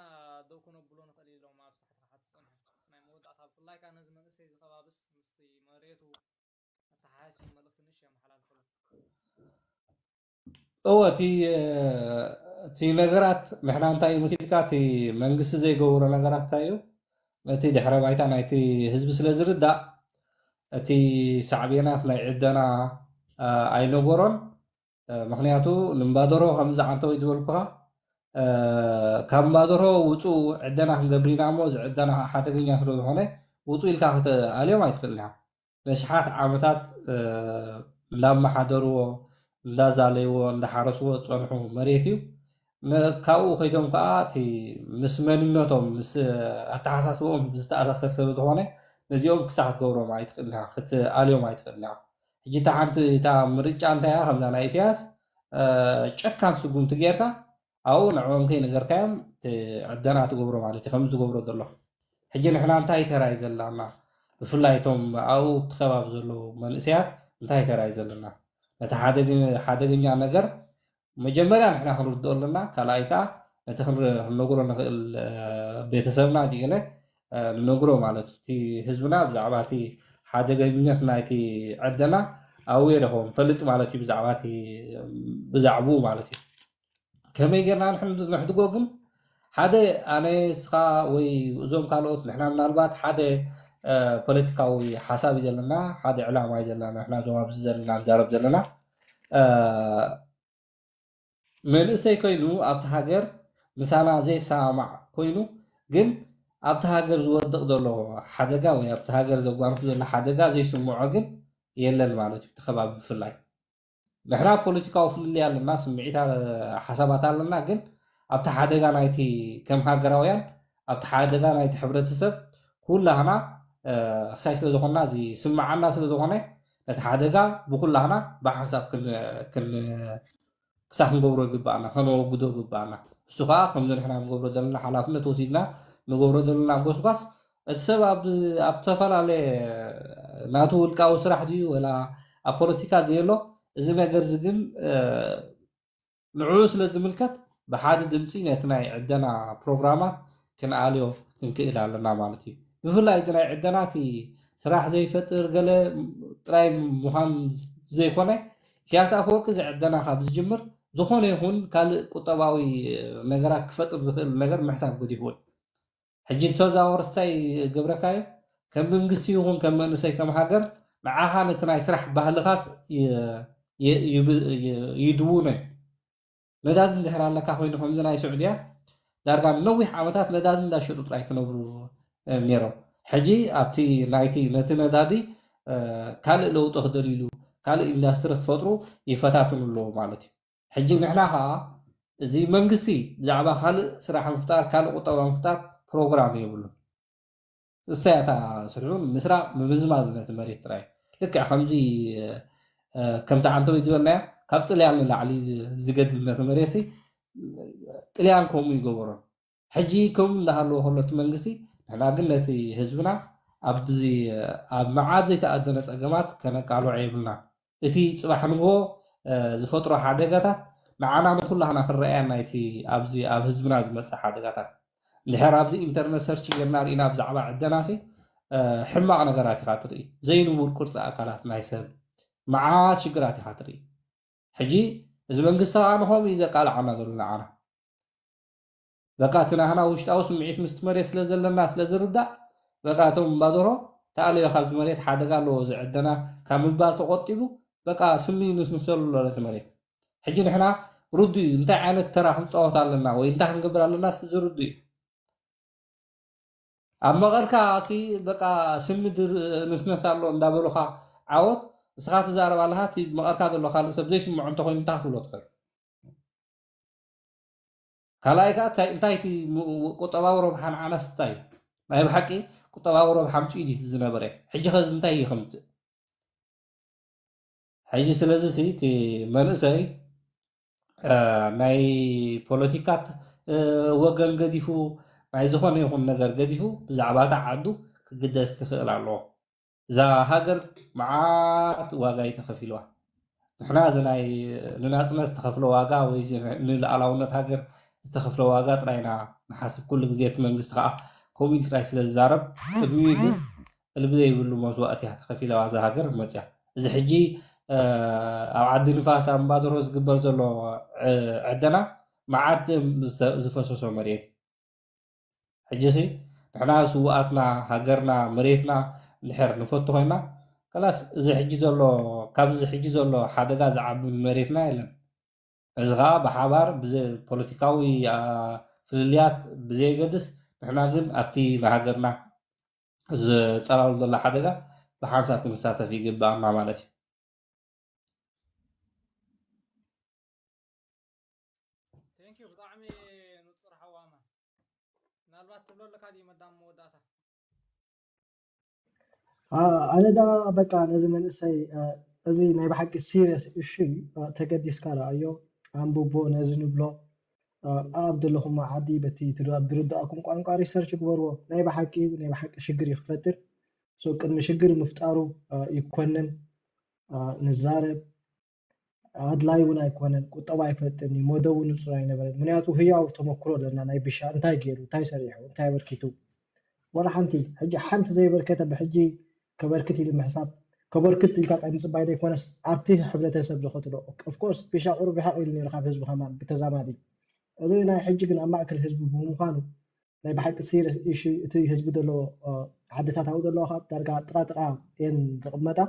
ደው ከነብሎ ንኽእል ኢሎም ኣብ ሳሕቲ ክሓቱ ጸኒሖም ናይ መወዳእታ ብፍላይ ከዓ ነዚ መንእሰይ እዚ ከባብስ ምስቲ መሬቱ ኣተሓሒሶም መልእኽቲ ንሽ የመሓላልፈሎም እወ እቲ እቲ ነገራት ንሕና እንታይ እዩ መሲልካ እቲ መንግስቲ ዘይገብሮ ነገራት እንታይ እዩ ነቲ ድሕረ ባይታ ናይቲ ህዝቢ ስለ ዝርዳእ እቲ ሳዕቤናት ናይ ዕደና ኣይነገሮን ምክንያቱ ንምባደሮ ከምዚ ዓንተወይ ዝበልኩኻ ካብ ምባደሮ ውፁ ዕደና ክንገብር ኢና እሞ እዚ ዕደና ሓደገኛ ስለ ዝኾነ ውፁ ኢልካ ክትኣልዮም ኣይትኽእልን ኢኻ ነሽሓት ዓመታት እንዳመሓደርዎ እንዳዛለይዎ እንዳሓረስዎ ዝፀንሑ መሬት እዩ ካብኡ ከይዶም ከዓ እቲ ምስ መንነቶም ምስ ኣተሓሳስቦኦም ዝተኣሳሰር ስለ ዝኾነ ነዚኦም ክሳዕ ክትገብሮም ኣይትኽእል ክትኣልዮም ኣይትኽእል ሕጂ እታ ሓንቲ እታ ምርጫ እንታይ እያ ከምዛ ናይ ኢሳያስ ጨካን ስጉምቲ ጌርካ ኣብኡ ንዕኦም ከይነገርካዮም ዕደና ትገብሮ ማለት እዩ ከም ዝገብሮ ዘሎ ሕጂ ንሕና እንታይ ተራይ ዘላና ብፍላይ እቶም ኣብኡ እቲ ከባቢ ዘለዉ መንእሰያት እንታይ ተራይ ዘለና ነቲ ሓደገኛ ነገር መጀመርያ ንሕና ክንርድኦ ኣለና ካልኣይ ከዓ ነቲ ክንነግሮ ንኽእል ቤተሰብና ዲገለ ንነግሮ ማለት እቲ ህዝብና ብዛዕባ እቲ ሓደገኝነት ናይቲ ዕደና ኣዌር ይኸውን ፈልጥ ማለት እዩ ብዛዕባ ብዛዕብኡ ማለት እዩ ከመይ ጌርና ንሕድጎ ግን ሓደ ኣነ ስኻ ወይ እዞም ካልኦት ንሕና ምናልባት ሓደ ፖለቲካዊ ሓሳብ እዩ ዘለና ሓደ ዕላማ እዩ ዘለና ንሕና እዞም ኣብዚ ዘለና ንዛረብ ዘለና መንእሰይ ኮይኑ ኣብቲ ሃገር ምሳና ዘይሰማማዕ ኮይኑ ግን ኣብቲ ሃገር ዝወድቕ ዘሎ ሓደጋ ወይ ኣብቲ ሃገር ዘጓንፉ ዘሎ ሓደጋ ዘይስምዖ ግን የለን ማለት እዩ እቲ ከባቢ ብፍላይ ንሕና ፖለቲካዊ ፍልልይ ኣለና ስምዒት ሓሳባት ኣለና ግን ኣብቲ ሓደጋ ናይቲ ከም ሃገራውያን ኣብቲ ሓደጋ ናይቲ ሕብረተሰብ ኩላህና ክሳይ ስለ ዝኾንና እዚ ስምዓና ስለ ዝኾነ ነቲ ሓደጋ ብኩላህና ብሓንሳብ ክሳ ክንገብሮ ይግባኣና ከነወግዶ ይግባኣና እሱ ከዓ ከምዚ ንሕና ንገብሮ ዘለና ሓላፍነት ወሲድና ንገብሮ ዘለና ጎስጓስ እቲ ሰብ ኣብ ዝተፈላለየ ናቱ ውልቃዊ ስራሕ ድዩ ወላ ኣብ ፖለቲካ ዘየሎ እዚ ነገር እዚ ግን ንዕኡ ስለ ዝምልከት ብሓደ ድምፂ ነቲ ናይ ዕደና ፕሮግራማት ክንኣልዮ ክንክእል ኣለና ማለት እዩ ብፍላይ እዚ ናይ ዕደና እቲ ስራሕ ዘይፈጥር ገለ ጥራይ ምዃን ዘይኮነ ኢሳያስ ኣፈወርቂ እዚ ዕደና ካብ ዝጅምር ዝኾነ ይኹን ካልእ ቁጠባዊ ነገራት ክፈጥር ዝኽእል ነገር ምሕሳብ ገዲፍዎ እዩ ሕጂ ተዛወር እንታይ ገብረካዮ ከም መንግስቲ ይኹን ከም መንእሰይ ከም ሃገር ንዓኻ ነቲ ናይ ስራሕ ባህልኻስ ይድውነ። ነዳዲ እንድሕር ኣለካ ኮይኑ ከምዚ ናይ ስዑድያ ዳርጋ ንነዊሕ ዓመታት ነዳዲ እንዳሸጡ ጥራይ ክነብሩ ነይሮም። ሕጂ ኣብቲ ናይቲ ነቲ ነዳዲ ካልእ ለውጢ ክደልይሉ ካልእ ኢንዳስትሪ ክፈጥሩ ይፈታትኑ ኣለዉ ማለት እዩ። ሕጂ ንሕና ከዓ እዚ መንግስቲ ብዛዕባ ካልእ ስራሕ ምፍጣር ካልእ ቁጠባ ምፍጣር ፕሮግራም የብሉን። እሳያታ ስርሑ ምስራቕ ምምዝማዝ ነቲ መሬት ጥራይ ልክዕ ከምዚ ከምቲ ዓንተወይ ዝበልናዮ ካብ ጥልያን ንላዕሊ ዝገድብ ነቲ መሬት ጥልያን ከምኡ ይገበሮን ሕጂ ከምኡ እንዳሃለዎ ከሎ እቲ መንግስቲ ንሕና ግን ነቲ ህዝብና ኣብዚ ኣብ መዓት ዘይተኣደነ ፀገማት ከነቃልዖ የብልና። እቲ ፅባሕ ንግሆ ዝፈጥሮ ሓደጋታት ንዓና ንኩላህና ክረኣየና እቲ ኣብዚ ኣብ ህዝብና ዝመፅእ ሓደጋታት እንድሕር ኣብዚ ኢንተርነት ሰርች ጌርና ርኢና ብዛዕባ ዕደናሲ ሕማቕ ነገራት ኢኻ ትርኢ። ዘይንቡር ቅርፂ ኣካላት ናይ ሰብ መዓት ሽግራት ኢኻ ትርኢ። ሕጂ እዚ መንግስቲ ከዓ ንኸምኡ እዩ ዘቃልዓና ዘሎ ንዓና። በቃ እቲ ናህና ውሽጣዊ ስምዒት ምስቲ መሬት ስለ ዘለና ስለ ዝርዳእ በቃ እቶም እምባደሮ ተኣለዮ ካብዚ መሬት ሓደጋ ኣለዎ ዝዕደና ካብ ምባል ተቆጢቡ በቃ ስሚ ንስንሰሉ ኣሎ ነቲ መሬት። ሕጂ ንሕና ርዱ እዩ እንታይ ዓይነት ተራ ክንፃወት ኣለና ወይ እንታይ ክንገብር ኣለና ዝርዱ እዩ። ኣብ መቐርካ ሲ በቃ ስሚ ንስነስ ኣሎ እንዳበሉካ ዓወት እስኻ ትዛረብ ኣለኻ እቲ መቐርካ ዘሎ ካልእ ሰብ ዘይስምዖ እንተኮይኑ እንታይ ክትብሎ ትኽእል? ካልኣይ ከዓ እንታይ እቲ ቁጠባዊ ረብሓ ንዓናስ እንታይ እዩ? ናይ ብሓቂ ቁጠባዊ ረብሓ ኣምፅኡ ድዩ ዝነበረ? ሕጂ ኸዚ እንታይ እዩ ከምፅእ? ሕጂ ስለዚ ሲ እቲ መንእሰይ ናይ ፖለቲካ ወገን ገዲፉ ናይ ዝኾነ ይኹን ነገር ገዲፉ ብዛዕባ እታ ዓዱ ክግደስ ክኽእል ኣለዎ። እዛ ሃገር መዓት ዋጋ እዩ ተኸፊልዋ። ንሕና እዚ ናይ ንናፅነት ዝተኸፍለ ዋጋ ወይ ንልኣላውነት ሃገር ዝተኸፍለ ዋጋ ጥራይና ንሓስብ። ኩሉ ግዜ እቲ መንግስቲ ከዓ ከምኡ ኢሉ ጥራይ ስለ ዝዛረብ ቅድሚኡ ግን እልቢ ዘይብሉ መስዋእቲ እያ ተኸፊለዋ እዛ ሃገር መፅያ። እዚ ሕጂ ኣብ ዓዲ ንፋስ ኣብ እምባደርሆ ዝግበር ዘሎ ዕደና መዓት ደም ዝፈሰሶ መሬት እዩ። ሕጂሲ ንሕና ስውኣትና ሃገርና መሬትና እንድሕር ንፈቱ ኮይና ከላስ እዚ ሕጂ ዘሎ ካብዚ ሕጂ ዘሎ ሓደጋ ዝዓቢ መሬትና የለን። እዚ ከዓ ብሓባር ፖለቲካዊ ፍልልያት ብዘየገድስ ንሕና ግን ኣብቲ ንሃገርና ዝፀላሉ ዘሎ ሓደጋ ብሓንሳብ ክንሳተፍ ይግባኣና ማለት እዩ። ቴንኪዩ ብጣዕሚ ንፁር ሓዋማ ምናልባት ትብሎ ኣለካ ድዩ መዳም መወዳእታ ኣነ ዳ በቃ ነዚ መንእሰይ እዚ ናይ ብሓቂ ሲሪየስ እሹ ተገዲስካ ረኣዮ ኣንብቦ ነዚ ንብሎ ኣብ ዘለኹም ዓዲ በቲ ኣብ ዝርዳእኩም ቋንቋ ሪሰርች ግበርዎ ናይ ብሓቂ ናይ ብሓቂ ሽግር እዩ ክፈጥር ቅድሚ ሽግር ምፍጣሩ ይኮነን ንዛረብ ኣድላይ እውን ኣይኮነን ቁጠባ ኣይፈልጥን እዩ መደቡ ንፁር ኣይነበረን ምክንያቱ ህያው ተመክሮ ኣለና ናይ ቢሻ እንታይ ገይሩ እንታይ ሰሪሑ እንታይ ኣበርኪቱ ዋላ ሓንቲ ሕጂ ሓንቲ ዘየበርከተ ብሕጂ ከበርክት ኢሉ ምሕሳብ ከበርክት ኢልካ ጣይ ምፅባይ ዘይኮነስ ኣብቲ ሕብረተሰብ ዝኸትሎ ኦፍኮርስ ቢሻ ቁሩብ ርሕቕ ኢሉ ነይሩ ካብ ህዝቢ ከማን ብተዛማዲ እዚ ናይ ሕጂ ግን ኣብ ማእከል ህዝቢ ብምዃኑ ናይ ብሓቂ ሲሪየስ ኢሹ እቲ ህዝቢ ዘለዎ ዓድታት ኣብኡ ዘለዋ ከዓ ዳርጋ ጥቃ ጥቃ እየን ዝቕመጣ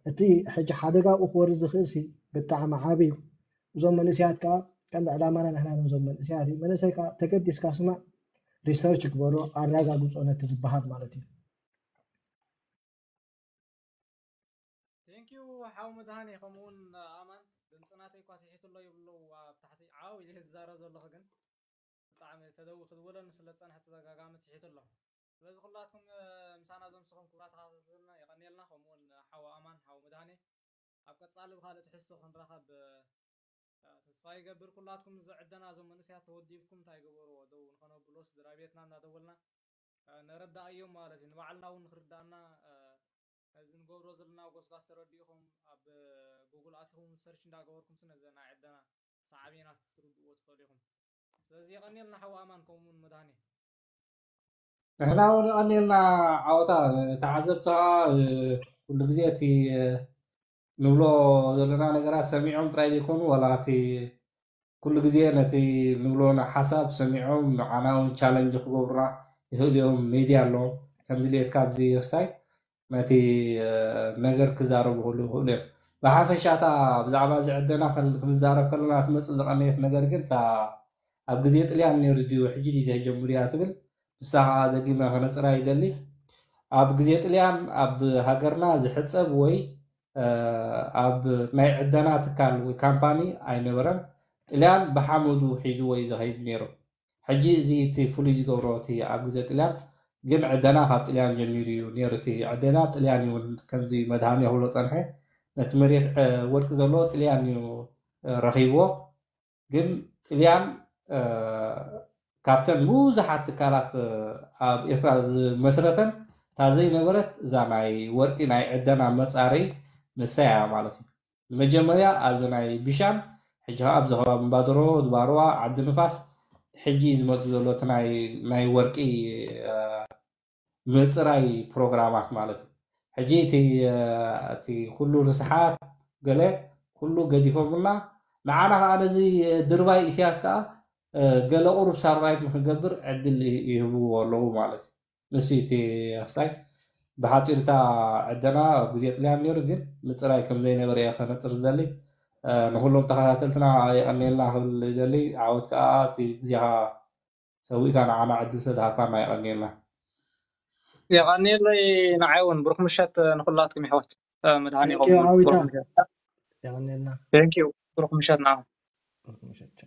እቲ ሕጂ ሓደጋ ኣብኡ ክወርድ ዝኽእል ሲ ብጣዕሚ ዓብዩ እዞም መንእሰያት ከዓ ቀንዲ ዕላማና ንሕና ነዞም መንእሰያት እዩ መንእሰይ ከዓ ተገዲስካ ስማዕ ሪሰርች ግበሮ ኣረጋግፆ ነቲ ዝበሃል ማለት እዩ ቴንኪዩ ሓው መድሃኔ ከምኡውን ኣማን ድምፂ ናተይ እኳ ስሒቱ ኣሎ ይብሉ ኣብ ታሕቲ ዓው ኢለ ዝዛረብ ዘለኹ ግን ብጣዕሚ ተደዊ ክትብለኒ ስለ ዝፀንሐ ተደጋጋሚ ትሒቱ ኣሎ ስለዚ ኩላትኩም ምሳና ዘምስኹም ክቡራት ተኸታተልና የቐንየልና ከምኡውን ሓው ኣማን ሓው መድሃኔ ኣብ ቀፃሊ ብካልእ ትሕዝቶ ክንራኸብ ተስፋ ይገብር ኩላትኩም ዝዕደና እዞም መንእሰያት ተወዲብኩም እንታይ ገበርዎ ደው ንኸነብሎ ስድራ ቤትና እናደወልና ነረዳእዮም ማለት እዩ ንባዕልና እውን ንክርዳእና እዚ ንገብሮ ዘለና ጎስጓስ ተረዲእኹም ኣብ ጉግል ኣቲኹም ሰርች እንዳገበርኩም ስነ ዘና ዕደና ሳዕቤናት ክትርድእዎ ትኽእሉ ኢኹም ስለዚ የቐኒልና ሓው ኣማን ከምኡውን መድሃኔ ንሕና እውን የቐኒልና ዓወታ ተዓዘብቲ ከዓ ኩሉ ግዜ እቲ ንብሎ ዘለና ነገራት ሰሚዖም ጥራይ ዘይኮኑ ዋላ እቲ ኩሉ ግዜ ነቲ ንብሎ ሓሳብ ሰሚዖም ንዓና እውን ቻለንጅ ክገብሩና ይኽእሉ እዮም፣ ሜድያ ኣለዎም። ከም ድልየትካ ኣብዚ ክስታይ ነቲ ነገር ክዛረቡ ክኽእሉ ይኽእሉ እዮም። ብሓፈሻ እታ ብዛዕባ እዚ ዕደና ክንዛረብ ከለና ትመፅእ ዝቐነየት ነገር ግን እታ ኣብ ግዜ ጥልያን ነይሩ ድዩ ሕጂ ድዩ ተጀምሩ እያ ትብል። ንሳ ከዓ ደጊመ ከነፅራ ይደሊ። ኣብ ግዜ ጥልያን ኣብ ሃገርና ዝሕፀብ ወይ ኣብ ናይ ዕደና ትካል ወይ ካምፓኒ ኣይነበረን። ጥልያን ብሓመዱ ሒዝዎ እዩ ዝኸይድ ነይሩ። ሕጂ እዚ እቲ ፍሉይ ዝገብሮ እቲ ኣብ ግዜ ጥልያን ግን ዕደና ካብ ጥልያን ጀሚሩ እዩ ነይሩ። እቲ ዕደና ጥልያን እዩ እውን ከምዚ መድሃኒ ክብሎ ፀንሐ። ነቲ መሬት ወርቂ ዘለዎ ጥልያን እዩ ረኺብዎ። ግን ጥልያን ካብተን ብዙሓት ትካላት ኣብ ኤርትራ ዝመስረተን እታ ዘይነበረት እዛ ናይ ወርቂ ናይ ዕደና መፃረይ ንሳ እያ ማለት እዩ። መጀመርያ ኣብዚ ናይ ቢሻን ሕጂ ከዓ ኣብዚ ከባቢ እምባደሮ፣ ድባርዋ፣ ዓዲ ንፋስ ሕጂ ዝመፁ ዘሎ እቲ ናይ ወርቂ ምፅራይ ፕሮግራማት ማለት እዩ። ሕጂ እቲ ኩሉ ርስሓት ገለ ኩሉ ገዲፎምና ንዓና ከዓ ነዚ ድርባይ ኢሳያስ ከዓ ገለ ቁሩብ ሳርቫይቭ ንክንገብር ዕድል ይህብዎ ኣለዉ ማለት እዩ። ንሱ እቲ ክስታይ ብሓፂርታ ዕደና ኣብ ግዜ ጥልያን ነይሩ ግን ምፅራይ ከም ዘይነበረ እየ ከነፅር ዝደሊ። ንኩሎም ተኸታተልትና የቐንየልና ክብል ይደሊ። ዓወት ከዓ እቲ ግዜኻ ሰዊእካ ንዓና ዕድል ስለዝሃብካና የቐንየልና። የቐንየለይ። ንዓይ እውን ብሩክ ምሸት ንኩላትኩም ይሕዋት። መድሃኒ Thank you ዓዊታ። የቐንየልና። ብሩክ ምሸት ንዓኹም። ብሩክ ምሸት።